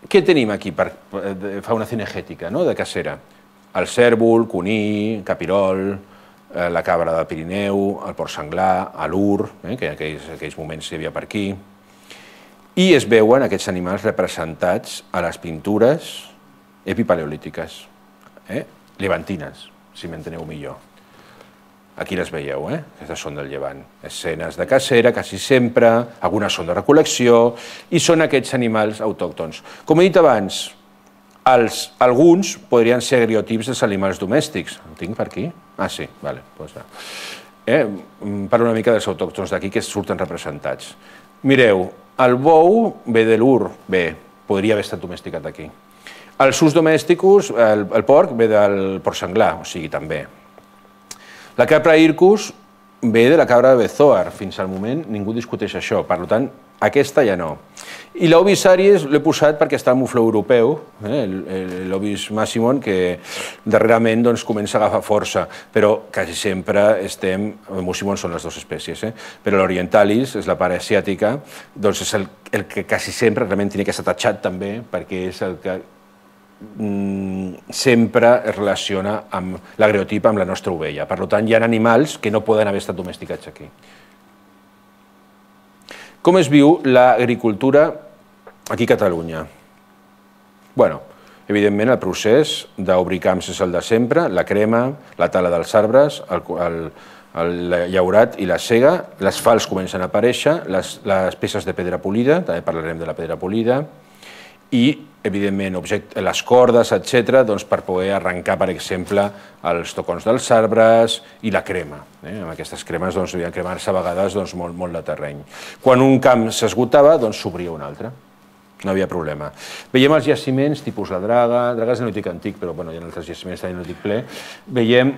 Speaker 1: Què tenim aquí per fauna cinegètica, de cacera? El cèrvol, conill, capirol, la cabra del Pirineu, el porc senglar, l'ur, que en aquells moments hi havia per aquí. I es veuen aquests animals representats a les pintures epipaleolítiques, llevantines, si m'enteneu millor. Aquí les veieu, aquestes són del llevant. Escenes de cacera, quasi sempre, algunes són de recol·lecció, i són aquests animals autòctons. Com he dit abans, alguns podrien ser agriotips dels animals domèstics. El tinc per aquí? Ah, sí, vale. Parlo una mica dels autòctons d'aquí que surten representats. Mireu, el bou ve de l'ur, bé, podria haver estat domesticat aquí. Els sus domèsticos, el porc ve del porc senglar, o sigui, també. La capra Hircus ve de la cabra de Bezoar, fins al moment ningú discuteix això, per tant, aquesta ja no. I l'Ovis aries l'he posat perquè està al mufló europeu, l'Ovis massimon, que darrerament comença a agafar força, però quasi sempre estem, el mussimon són les dues espècies, però l'orientalis, és la part asiàtica, doncs és el que quasi sempre realment hauria que estar tatxat també, perquè és el que sempre es relaciona amb l'agreotip amb la nostra ovella. Per tant, hi ha animals que no poden haver estat domesticats aquí. Com es viu l'agricultura aquí a Catalunya? Bé, evidentment el procés d'obrir camps és el de sempre, la crema, la tala dels arbres, el llaurat i la sega, les fals comencen a aparèixer, les peces de pedra polida, també parlarem de la pedra polida, i, evidentment, les cordes, etcètera, per poder arrencar, per exemple, els tocons dels arbres i la crema. Amb aquestes cremes devien cremar-se a vegades molt de terreny. Quan un camp s'esgotava, s'obria un altre. No hi havia problema. Veiem els jaciments, tipus la Draga, Draga és neolític antic, però hi ha altres jaciments de neolític ple. Veiem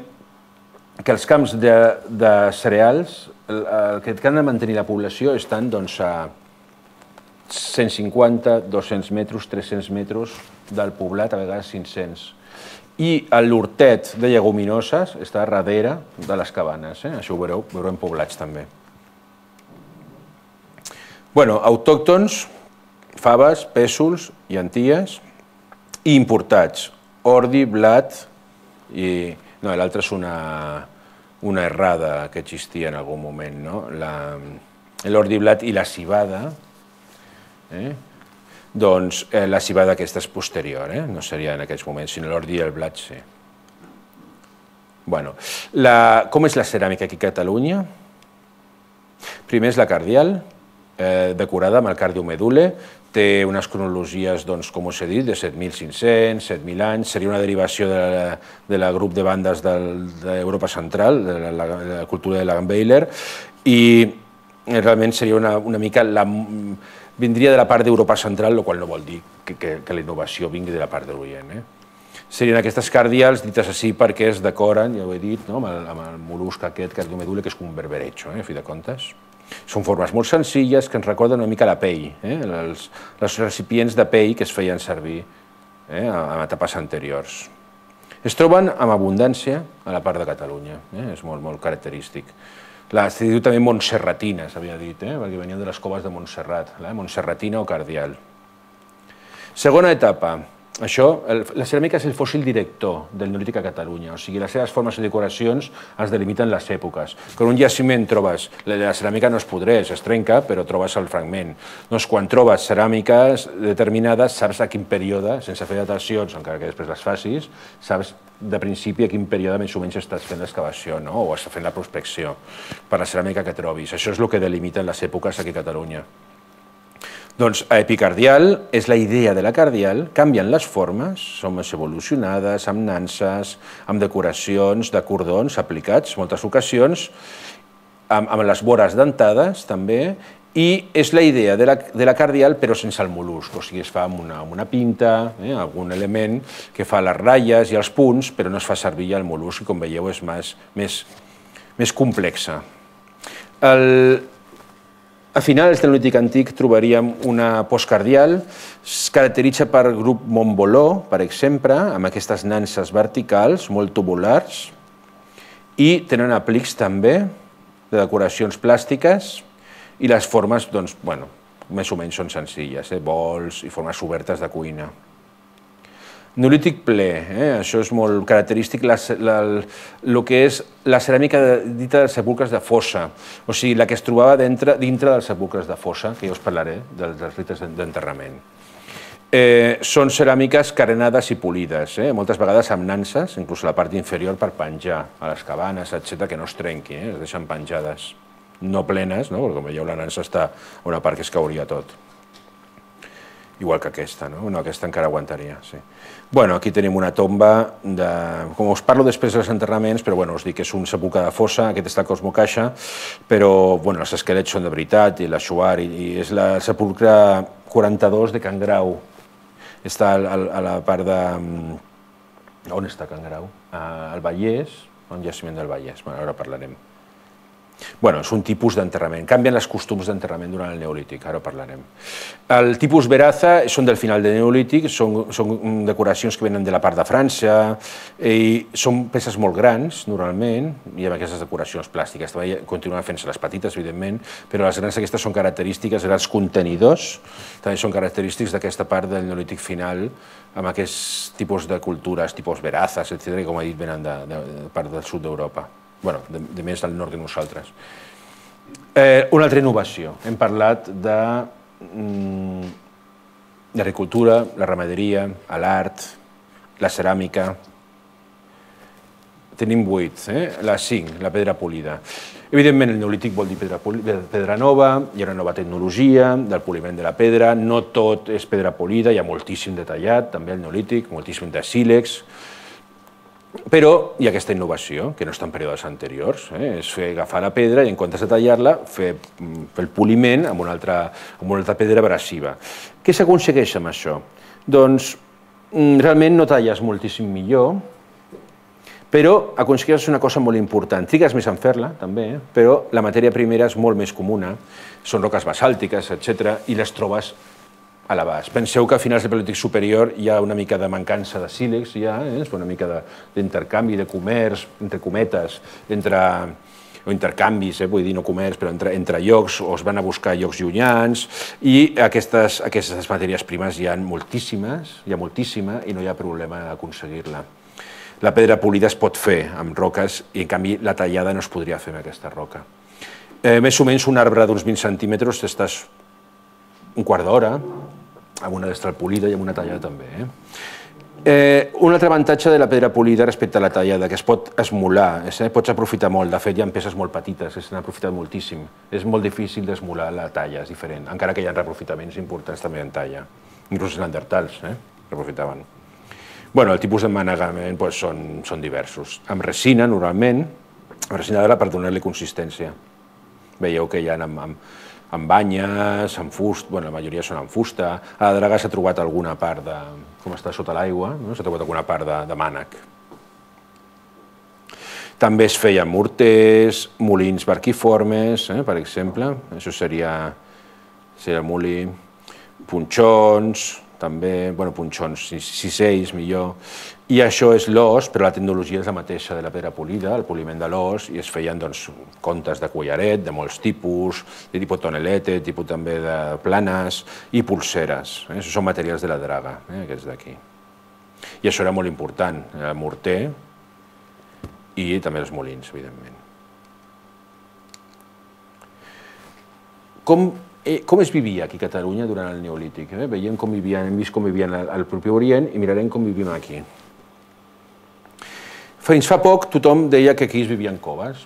Speaker 1: que els camps de cereals, el que han de mantenir la població, estan a cent cinquanta, dos-cents metres, tres-cents metres del poblat, a vegades cinc-cents. I l'hortet de lleguminoses està darrere de les cabanes. Això ho veureu, ho veurem poblats també. Bé, autòctons, faves, pèsols, llenties, i importats, ordi, blat, i l'altre és una errada que existia en algun moment, l'ordi, blat i la civada. Doncs la civada aquesta és posterior, no seria en aquests moments, sinó l'ordi i el blat sí. Com és la ceràmica aquí a Catalunya? Primer és la cardial, decorada amb el cardiomedule, té unes cronologies, com us he dit, de set mil cinc-cents, set mil anys, seria una derivació del grup de bandes d'Europa Central, de la cultura de Langenweiler, i realment seria una mica la... vindria de la part d'Europa Central, el qual no vol dir que la innovació vingui de la part de l'Orient. Serien aquestes cardials dites així perquè es decoren, ja ho he dit, amb el mol·lusc aquest, cardiomedule, que és com un berberecho, a fi de comptes. Són formes molt senzilles que ens recorden una mica la pell, els recipients de pell que es feien servir en etapes anteriors. Es troben amb abundància a la part de Catalunya, és molt característic. Es diu també montserratina, s'havia dit, perquè venien de les coves de Montserrat, montserratina o cardial. Segona etapa. La ceràmica és el fòssil director del neolític a Catalunya, o sigui, les seves formes i decoracions es delimiten les èpoques. Quan un jaciment trobes, la ceràmica no es podreix, es trenca, però trobes el fragment. Doncs quan trobes ceràmiques determinades, saps a quin període, sense fer datacions, encara que després les facis, saps de principi a quin període més o menys estàs fent l'excavació o estàs fent la prospecció per la ceràmica que trobis. Això és el que delimiten les èpoques aquí a Catalunya. Doncs epicardial és la idea de la cardial, canvien les formes, són més evolucionades, amb nanses, amb decoracions de cordons aplicats, moltes ocasions, amb, amb les vores dentades també, i és la idea de la, de la cardial però sense el mol·lusc, o sigui, es fa amb una, amb una pinta, eh, algun element que fa les ratlles i els punts, però no es fa servir el mol·lusc, i com veieu és més, més, més complexa. El, A finals del Neolític Antic trobaríem una postcardial, es caracteritza per grup Montboló, per exemple, amb aquestes nanses verticals, molt tubulars, i tenen aplics també de decoracions plàstiques, i les formes, doncs, bueno, més o menys són senzilles, eh? Bols i formes obertes de cuina. Neolític ple, eh? Això és molt característic, el que és la ceràmica dita de sepulcres de fossa, o sigui, la que es trobava dintre, dintre dels sepulcres de fossa, que ja us parlaré dels, dels rites d'enterrament. Eh, són ceràmiques carenades i polides, eh? Moltes vegades amb nanses, inclús a la part inferior per penjar a les cabanes, etcètera, que no es trenqui, eh? Es deixen penjades, no plenes, no? Perquè com veieu la nansa està a una part que es cauria tot. Igual que aquesta, no? No, aquesta encara aguantaria, sí. Bueno, aquí tenim una tomba, de, com us parlo després dels enterraments, però bueno, us dic que és un sepulcre de fossa, aquest està a Cosmocaixa, però bueno, els esquelets són de veritat, i la Xuar, i, i és la sepulcre quaranta-dos de Can Grau. Està a, a la part de... On està Can Grau? Al Vallès, un jaciment del Vallès, bueno, ara parlarem. Bueno, és un tipus d'enterrament. Canvien els costums d'enterrament durant el Neolític, ara parlarem. El tipus Veraza són del final del Neolític, són, són decoracions que venen de la part de França, i són peces molt grans, normalment, i amb aquestes decoracions plàstiques. També continuen fent-se les petites, evidentment, però les grans aquestes són característiques, grans contenidors, també són característics d'aquesta part del Neolític final, amb aquests tipus de cultures, tipus Verazas, etcètera, que, com he dit, venen de, de, de part del sud d'Europa. Bueno, de, de més al nord que nosaltres. Eh, una altra innovació. Hem parlat de mm, l'agricultura, la ramaderia, l'art, la ceràmica. Tenim vuit, eh? La cinc, la pedra polida. Evidentment, el Neolític vol dir pedra, pedra nova, hi ha una nova tecnologia del poliment de la pedra, no tot és pedra polida, hi ha moltíssim detallat, també el Neolític, moltíssim de sílex, però hi ha aquesta innovació, que no està en períodes anteriors, eh? És fer agafar la pedra i en comptes de tallar-la, fer, fer el poliment amb una altra, amb una altra pedra abrasiva. Què s'aconsegueix amb això? Doncs realment no talles moltíssim millor, però aconsegueixes una cosa molt important. Trigues més en fer-la, també, però la matèria primera és molt més comuna, són roques basàltiques, etcètera, i les trobes a l'abast. Penseu que a finals del Paleolític superior hi ha una mica de mancança de sílex, ja, eh? Una mica d'intercanvi, de, de comerç, entre cometes, entre, o intercanvis, eh? Vull dir, no comerç, però entre, entre llocs, o es van a buscar llocs llunyans, i aquestes, aquestes matèries primes hi ha moltíssimes, hi ha moltíssima, i no hi ha problema d'aconseguir-la. La pedra polida es pot fer amb roques, i en canvi la tallada no es podria fer amb aquesta roca. Eh, més o menys un arbre d'uns vint centímetres estàs un quart d'hora, amb una destral polida i amb una tallada també. Eh? Eh, un altre avantatge de la pedra polida respecte a la tallada, que es pot esmolar, eh? Pots aprofitar molt, de fet hi ha peces molt petites, s'han aprofitat moltíssim. És molt difícil d'esmolar la talla, és diferent, encara que hi ha reaprofitaments importants també en talla. Inclús els neandertals eh? Reaprofitaven. Bueno, el tipus d'emmanegament doncs, són, són diversos. Amb resina, normalment, amb resina d'ara per donar-li consistència. Veieu que hi ha amb, amb amb banyes, amb fusta, bueno, la majoria són amb fusta. A la draga s'ha trobat alguna part de, com està sota l'aigua, no? S'ha trobat alguna part de, de mànec. També es feien morters, molins barquiformes, eh, per exemple, això seria, seria el molí, punxons, també, bueno, punxons, cisells, millor, i això és l'os, però la tecnologia és la mateixa de la pedra polida, el poliment de l'os, i es feien doncs, contes de collaret, de molts tipus, de tipus tonelete, tipus també de planes, i pulseres. Eh? Això són materials de la draga, eh? Aquests d'aquí. I això era molt important, el morter i també els molins, evidentment. Com Com es vivia aquí a Catalunya durant el Neolític? Eh? Veiem com vivien, hem vist com vivien al propi Orient i mirarem com vivim aquí. Fins fa poc tothom deia que aquí es vivia en coves.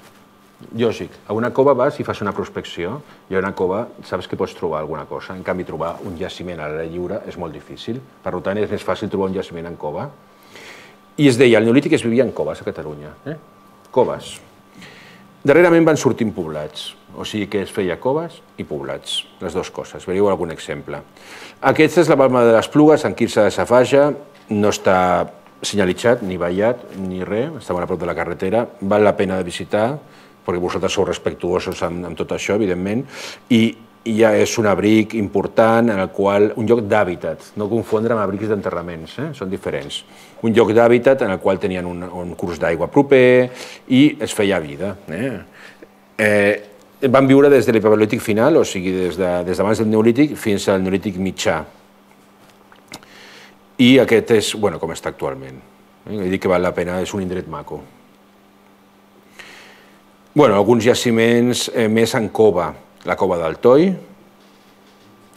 Speaker 1: lògic. A una cova vas i fas una prospecció, i a una cova saps que pots trobar alguna cosa. En canvi, trobar un jaciment a l'aire lliure és molt difícil. Per tant, és més fàcil trobar un jaciment en cova. I es deia, al Neolític es vivia en coves a Catalunya. Eh? Coves. Darrerament van sortint poblats, o sigui que es feia coves i poblats, les dues coses. Veieu algun exemple. Aquesta és la Balma de les Plugues, en Quirze de Safaja, no està senyalitzat, ni vallat, ni res, està molt a prop de la carretera, val la pena de visitar, perquè vosaltres sou respectuosos amb, amb tot això, evidentment, i, i ja és un abric important en el qual, un lloc d'hàbitat, no confondre amb abrics d'enterraments, eh? Són diferents. Un lloc d'hàbitat en el qual tenien un, un curs d'aigua proper i es feia vida. Eh? Eh, van viure des de l'Epipaleolític final, o sigui, des de, des d'abans del Neolític fins al Neolític mitjà. I aquest és, bueno, com està actualment. Eh? Vull dir que val la pena, és un indret maco. Bueno, alguns jaciments eh, més en cova. La cova del Toi,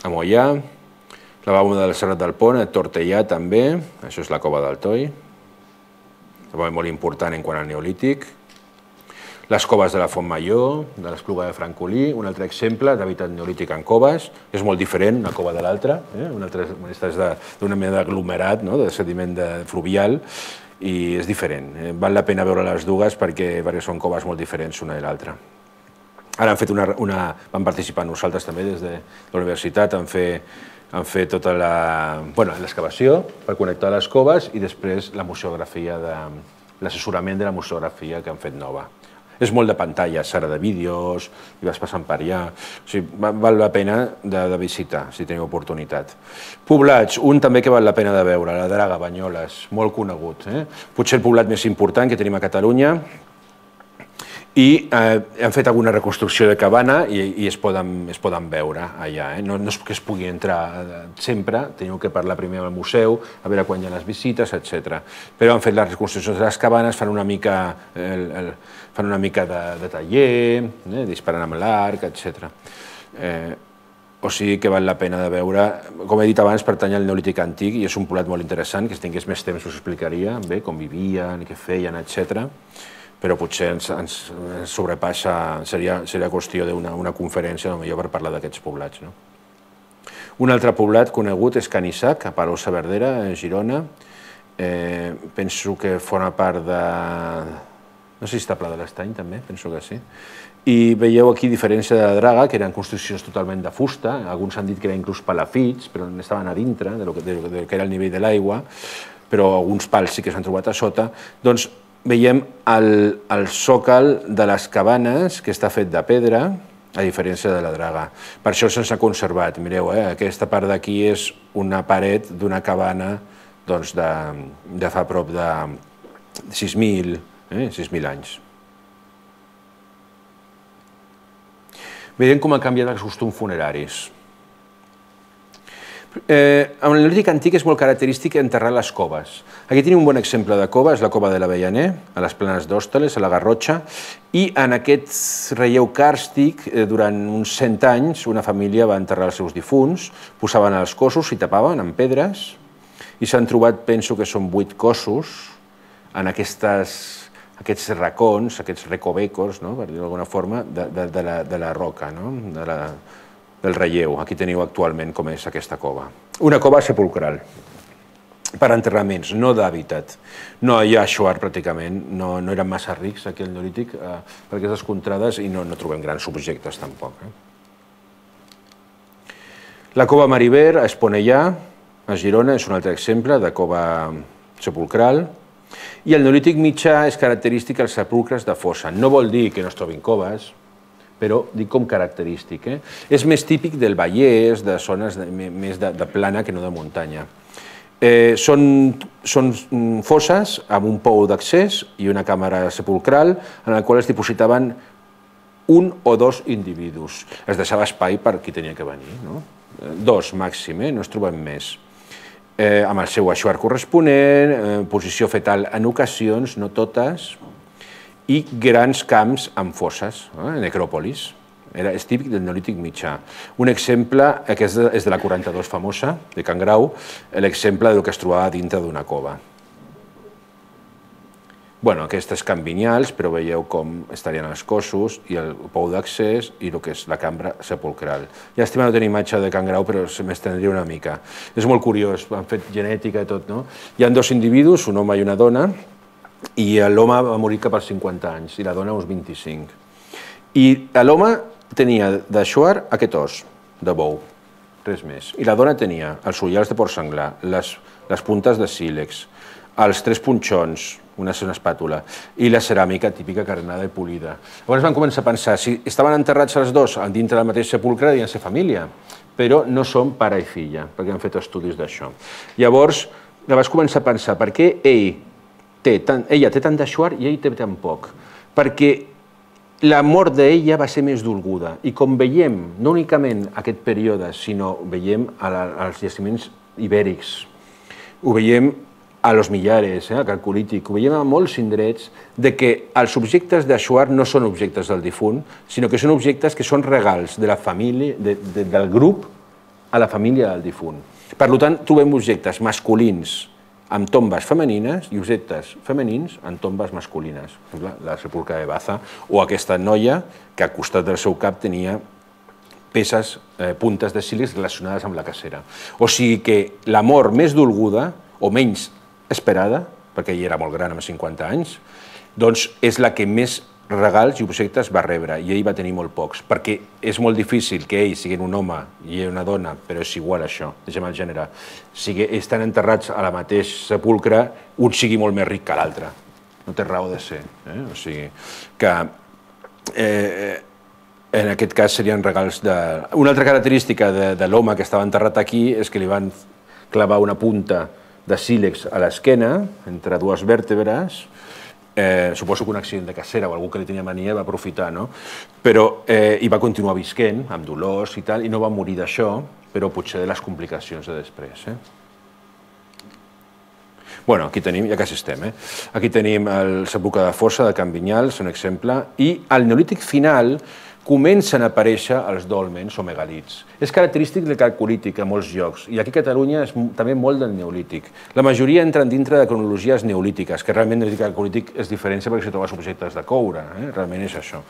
Speaker 1: a Moià, la Balma del Serrat del Pont, a Tortellà també, això és la cova del Toi, també molt important en quant al Neolític. Les coves de la Font Major, de l'Espluga de Francolí, un altre exemple d'hàbitat neolític en coves, és molt diferent una cova de l'altra, eh? Una altra és d'una mena d'aglomerat, no? De sediment de fluvial, i és diferent. Eh? Val la pena veure les dues perquè, perquè són coves molt diferents una de l'altra. Ara han fet una, una, vam participar nosaltres també des de la universitat, han fet, han fet tota la, bueno, l'excavació per connectar les coves i després la museografia, de, l'assessorament de la museografia que han fet nova. És molt de pantalles, ara de vídeos, i vas passant per allà. O sigui, val la pena de, de visitar, si teniu oportunitat. Poblats, un també que val la pena de veure, la Draga, Banyoles, molt conegut. Eh? Potser el poblat més important que tenim a Catalunya, i eh, han fet alguna reconstrucció de cabana i, i es, poden, es poden veure allà. Eh? No, no és que es pugui entrar sempre, teniu que parlar primer amb el museu, a veure quan hi ha les visites, etcètera. Però han fet les reconstruccions de les cabanes, fan una mica, el, el, fan una mica de, de taller, eh? Disparant amb l'arc, etcètera. Eh, o sigui que val la pena de veure. Com he dit abans, pertany al Neolític antic i és un poblat molt interessant, que si tingués més temps us explicaria bé com vivien, què feien, etcètera. Però potser ens, ens sobrepassa, seria, seria qüestió d'una una conferència, potser per parlar d'aquests poblats. No? Un altre poblat conegut és Canissac, a Palau-saverdera, a Girona. Eh, penso que forma part de... No sé si està Pla de l'Estany, també, penso que sí. I veieu aquí diferència de la Draga, que eren construccions totalment de fusta, alguns han dit que eren inclús palafits, però estaven a dintre del que, de, de que era el nivell de l'aigua, però alguns pals sí que s'han trobat a sota. Doncs veiem el, el sòcal de les cabanes, que està fet de pedra, a diferència de la Draga. Per això se'ns ha conservat. Mireu, eh? Aquesta part d'aquí és una paret d'una cabana doncs, de, de fa prop de sis mil eh? sis mil anys. Veiem com han canviat els costums funeraris. Eh, en el Neolític antic és molt característic enterrar les coves. Aquí tenim un bon exemple de cova, és la cova de l'Avellaner, a les planes d'Hòstoles, a la Garrotxa, i en aquest relleu càrstic, eh, durant uns cent anys, una família va enterrar els seus difunts, posaven els cossos, s'hi tapaven amb pedres, i s'han trobat, penso que són vuit cossos, en aquestes, aquests racons, aquests recovecos, no? Per dir-ho d'alguna forma, de, de, de, la, de la roca, no? de la, del relleu. Aquí teniu actualment com és aquesta cova. Una cova sepulcral, per enterraments, no d'hàbitat. No hi ha aixoar pràcticament, no, no eren massa rics aquí al Neolític eh, per aquestes contrades i no, no trobem grans objectes tampoc. Eh? La cova Mariver, a Esponellà, a Girona, és un altre exemple de cova sepulcral. I el Neolític mitjà és característic als sepulcres de fossa. No vol dir que no es trobin coves, però dic com característic. Eh? És més típic del Vallès, de zones de, més de, de plana que no de muntanya. Eh, són, són fosses amb un pou d'accés i una càmera sepulcral en la qual es dipositaven un o dos individus. Es deixava espai per qui tenia que venir. No? Dos màxim, eh? No es troben més. Eh, amb el seu aixoar corresponent, eh, posició fetal en ocasions, no totes, i grans camps amb fosses, eh, necròpolis. Era, és típic del Neolític mitjà. Un exemple, aquest és de la quaranta-dos famosa, de Can Grau, l'exemple del que es trobava dintre d'una cova. Bueno, aquestes can Vinyals, però veieu com estarien els cossos i el pou d'accés i el que és la cambra sepulcral. Llàstima no tenir imatge de Can Grau, però se m'estendria una mica. És molt curiós, han fet genètica i tot, no? Hi ha dos individus, un home i una dona, i l'home va morir cap als cinquanta anys i la dona uns vint-i-cinc. I l'home tenia de Shuar aquest os de bou, res més. I la dona tenia els ullals de porc senglar, les, les puntes de sílex, els tres punxons, una, una espàtula, i la ceràmica típica carnada i polida. Llavors van començar a pensar, si estaven enterrats els dos dintre del mateix sepulcre, devien ser família, però no són pare i filla, perquè han fet estudis d'això. Llavors, vas començar a pensar, per què ell té tant, ella té tant de Shuar i ell té tan poc? Perquè la mort d'ella va ser més dolguda, i com veiem, no únicament aquest període, sinó veiem als jaciments ibèrics, ho veiem a Los Millares, eh, a Calcolític, ho veiem a molts indrets, de que els objectes de Shuar no són objectes del difunt, sinó que són objectes que són regals de la família, de, de, del grup a la família del difunt. Per tant, trobem objectes masculins amb tombes femenines i objectes femenins amb tombes masculines. Per exemple, la sepulcre de Baza, o aquesta noia que al costat del seu cap tenia peces, eh, puntes de sílex relacionades amb la cacera. O sigui que la mort més dolguda, o menys esperada, perquè ell era molt gran, amb cinquanta anys, doncs és la que més regals i objectes va rebre, i ell va tenir molt pocs, perquè és molt difícil que ell, sigui un home i ell una dona, però és igual això, deixem el gènere, sigui, estan enterrats a la mateix sepulcre, un sigui molt més ric que l'altre. No té raó de ser. Eh? O sigui, que eh, en aquest cas serien regals de... Una altra característica de, de l'home que estava enterrat aquí és que li van clavar una punta de sílex a l'esquena, entre dues vèrtebres, eh, suposo que un accident de cacera o algú que li tenia mania va aprofitar, no? Però, eh, i va continuar visquent, amb dolors i tal, i no va morir d'això, però potser de les complicacions de després. Eh? Bueno, aquí tenim, ja quasi estem, eh? Aquí tenim el sepulcre de fossa de Can Vinyals, un exemple, i al Neolític final comencen a aparèixer els dòlmens o megalits. És característic del Calcolític a molts llocs, i aquí a Catalunya és també molt del Neolític. La majoria entren dintre de cronologies neolítiques, que realment el Calcolític es diferencia perquè si trobes objectes de coure, eh? Realment és això.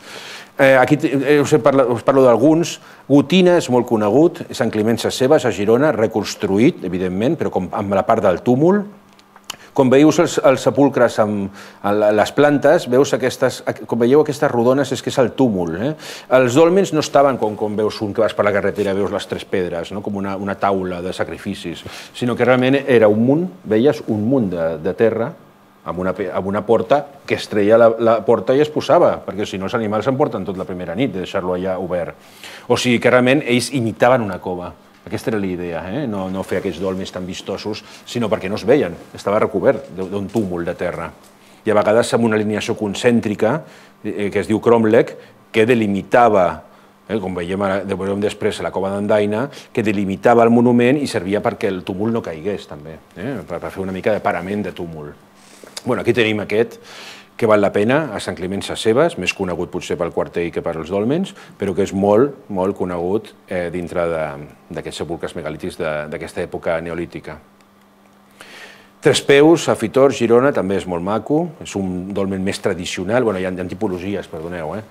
Speaker 1: Eh, aquí eh, us, parlo, us parlo d'alguns. Gotina és molt conegut, Sant Climent Sescebes, a Girona, reconstruït, evidentment, però com amb la part del túmul. Com veieu els, els sepulcres amb les plantes, veus aquestes, com veieu aquestes rodones és que és el túmul. Eh? Els dòlmens no estaven com, com veus un que vas per la carretera i veus les tres pedres, no? Com una, una taula de sacrificis, sinó que realment era un munt, veies un munt de, de terra amb una, amb una porta que es treia la, la porta i es posava, perquè si no els animals s'emporten tot la primera nit de deixar-lo allà obert. O sigui que realment ells imitaven una cova. Aquesta era la idea, eh? no, no fer aquests dòlmens tan vistosos, sinó perquè no es veien, estava recobert d'un túmul de terra. I a vegades amb una alineació concèntrica, eh, que es diu cromlech, que delimitava, eh, com veiem, veurem després a la cova d'Andaina, que delimitava el monument i servia perquè el túmul no caigués, també, eh? per, per fer una mica de parament de túmul. Bueno, aquí tenim aquest, que val la pena, a Sant Climent Sescebes, més conegut potser pel quartell que per als dòlmens, però que és molt, molt conegut eh, dintre d'aquests sepulcres megalítics d'aquesta època neolítica. Trespeus, a Fitor, Girona, també és molt maco, és un dolmen més tradicional, bueno, hi ha, hi ha tipologies, perdoneu. Eh?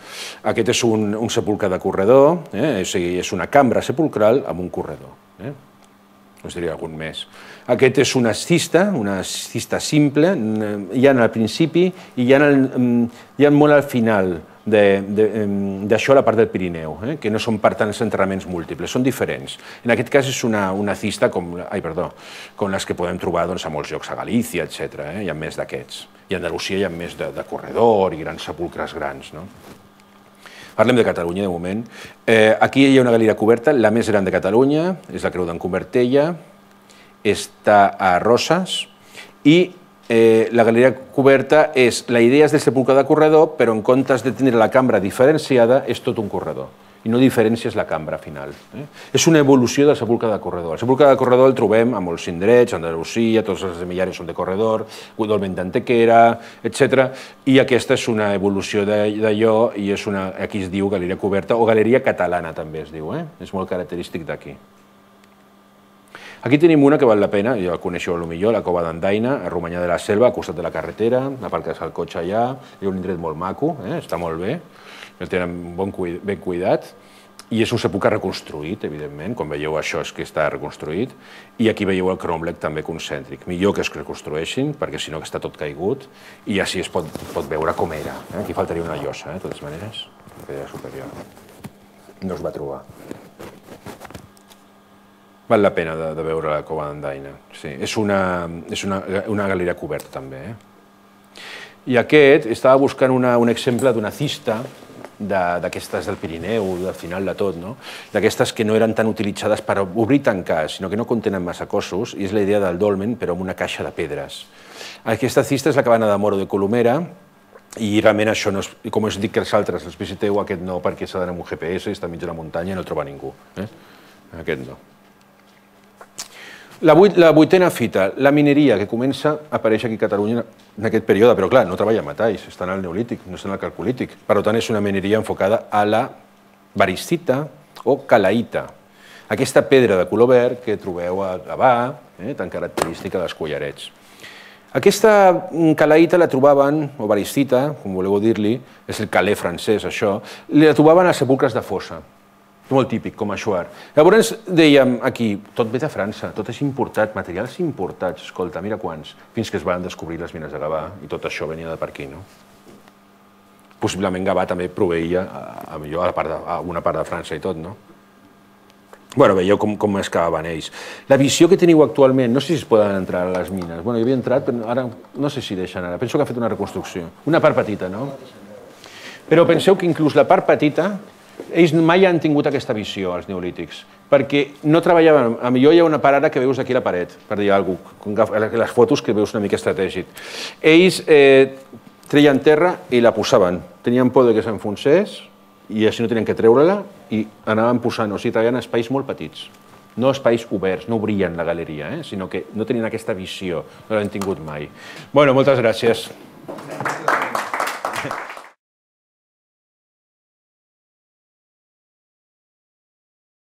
Speaker 1: Aquest és un, un sepulcre de corredor, eh? o sigui, és una cambra sepulcral amb un corredor. Eh? Us diria algun més. Aquest és una cista, una cista simple, hi ha al principi i hi ha, el, hi ha molt al final d'això a la part del Pirineu, eh? que no són per tants enterraments múltiples, són diferents. En aquest cas és una, una cista com, ai, perdó, com les que podem trobar doncs, a molts llocs a Galícia, etcètera. Eh? Hi ha més d'aquests. I a Andalusia hi ha més de, de corredor i grans sepulcres grans. No? Parlem de Catalunya, de moment. Eh, aquí hi ha una galeria coberta, la més gran de Catalunya, és la Creu d'en Convertella, està a Roses, i eh, la galeria coberta és, la idea és del sepulcre de corredor, però en comptes de tenir la cambra diferenciada, és tot un corredor, i no diferències la cambra final. Eh? És una evolució del sepulcre de corredor. El sepulcre de corredor el trobem a molts indrets, a Andalusia, tots els de Millares són de corredor, Dolmen d'Antequera, etcètera. I aquesta és una evolució d'allò, i és una, aquí es diu galeria coberta, o galeria catalana també es diu, eh? És molt característic d'aquí. Aquí tenim una que val la pena, ja la coneixeu potser, la Cova d'Andaina, a Romanyà de la Selva, al costat de la carretera, aparques el cotxe allà, hi ha un indret molt maco, eh? Està molt bé, el tenen bon, ben cuidat, i és un sepulcre reconstruït, evidentment, com veieu això és que està reconstruït, i aquí veieu el cromlech també concèntric. Millor que es reconstrueixin, perquè si no està tot caigut, i així es pot, pot veure com era. Eh? Aquí faltaria una llosa, eh? de totes maneres, que era superior. No es va trobar. Val la pena de, de veure la Cova d'Andaina. Sí, és una, és una, una galeria coberta, també. Eh? I aquest, estava buscant una, un exemple d'una cista, d'aquestes del Pirineu, del final de tot, no? D'aquestes que no eren tan utilitzades per obrir i tancar, sinó que no contenen massa cossos, i és la idea del dolmen, però amb una caixa de pedres. Aquesta cista és la cabana de Moro de Colomera, i realment això, no és, com us dic que els altres els visiteu, aquest no, perquè s'ha d'anar amb un G P S, està enmig de la muntanya i no el troba ningú. Eh? Aquest no. La, vuit, la vuitena fita, la mineria, que comença a aparèixer aquí a Catalunya en aquest període, però clar, no treballa metalls, estan al neolític, no estan al calcolític. Per tant, és una mineria enfocada a la varicita o calaïta. Aquesta pedra de color verd que trobeu a Gavà, eh, tan característica dels collarets. Aquesta calaïta la trobaven, o varicita, com voleu dir-li, és el calé francès, això, la trobaven als sepulcres de fossa. Molt típic, com a Xuar. Llavors dèiem aquí, tot ve de França, tot és importat, materials importats, escolta, mira quants, fins que es van descobrir les mines de Gavà i tot això venia de per aquí, no? Possiblement Gavà també proveïa a, millor, a, la part de, a una part de França i tot, no? Bueno, veieu com, com excavaven ells. La visió que teniu actualment, no sé si es poden entrar a les mines. Bueno, hi havia entrat, però ara no sé si deixen ara. Penso que ha fet una reconstrucció. Una part petita, no? Però penseu que inclús la part petita ells mai han tingut aquesta visió, els neolítics, perquè no treballaven... A millor hi ha una part ara que veus aquí a la paret, per dir alguna cosa, les fotos que veus una mica estratègic. Ells eh, treien terra i la posaven. Tenien por que s'enfonsés i així no tenien que treure-la i anaven posant, o sigui, treballant espais molt petits. No espais oberts, no obrien la galeria, eh? Sinó que no tenien aquesta visió, no l'han tingut mai. Bueno, moltes gràcies.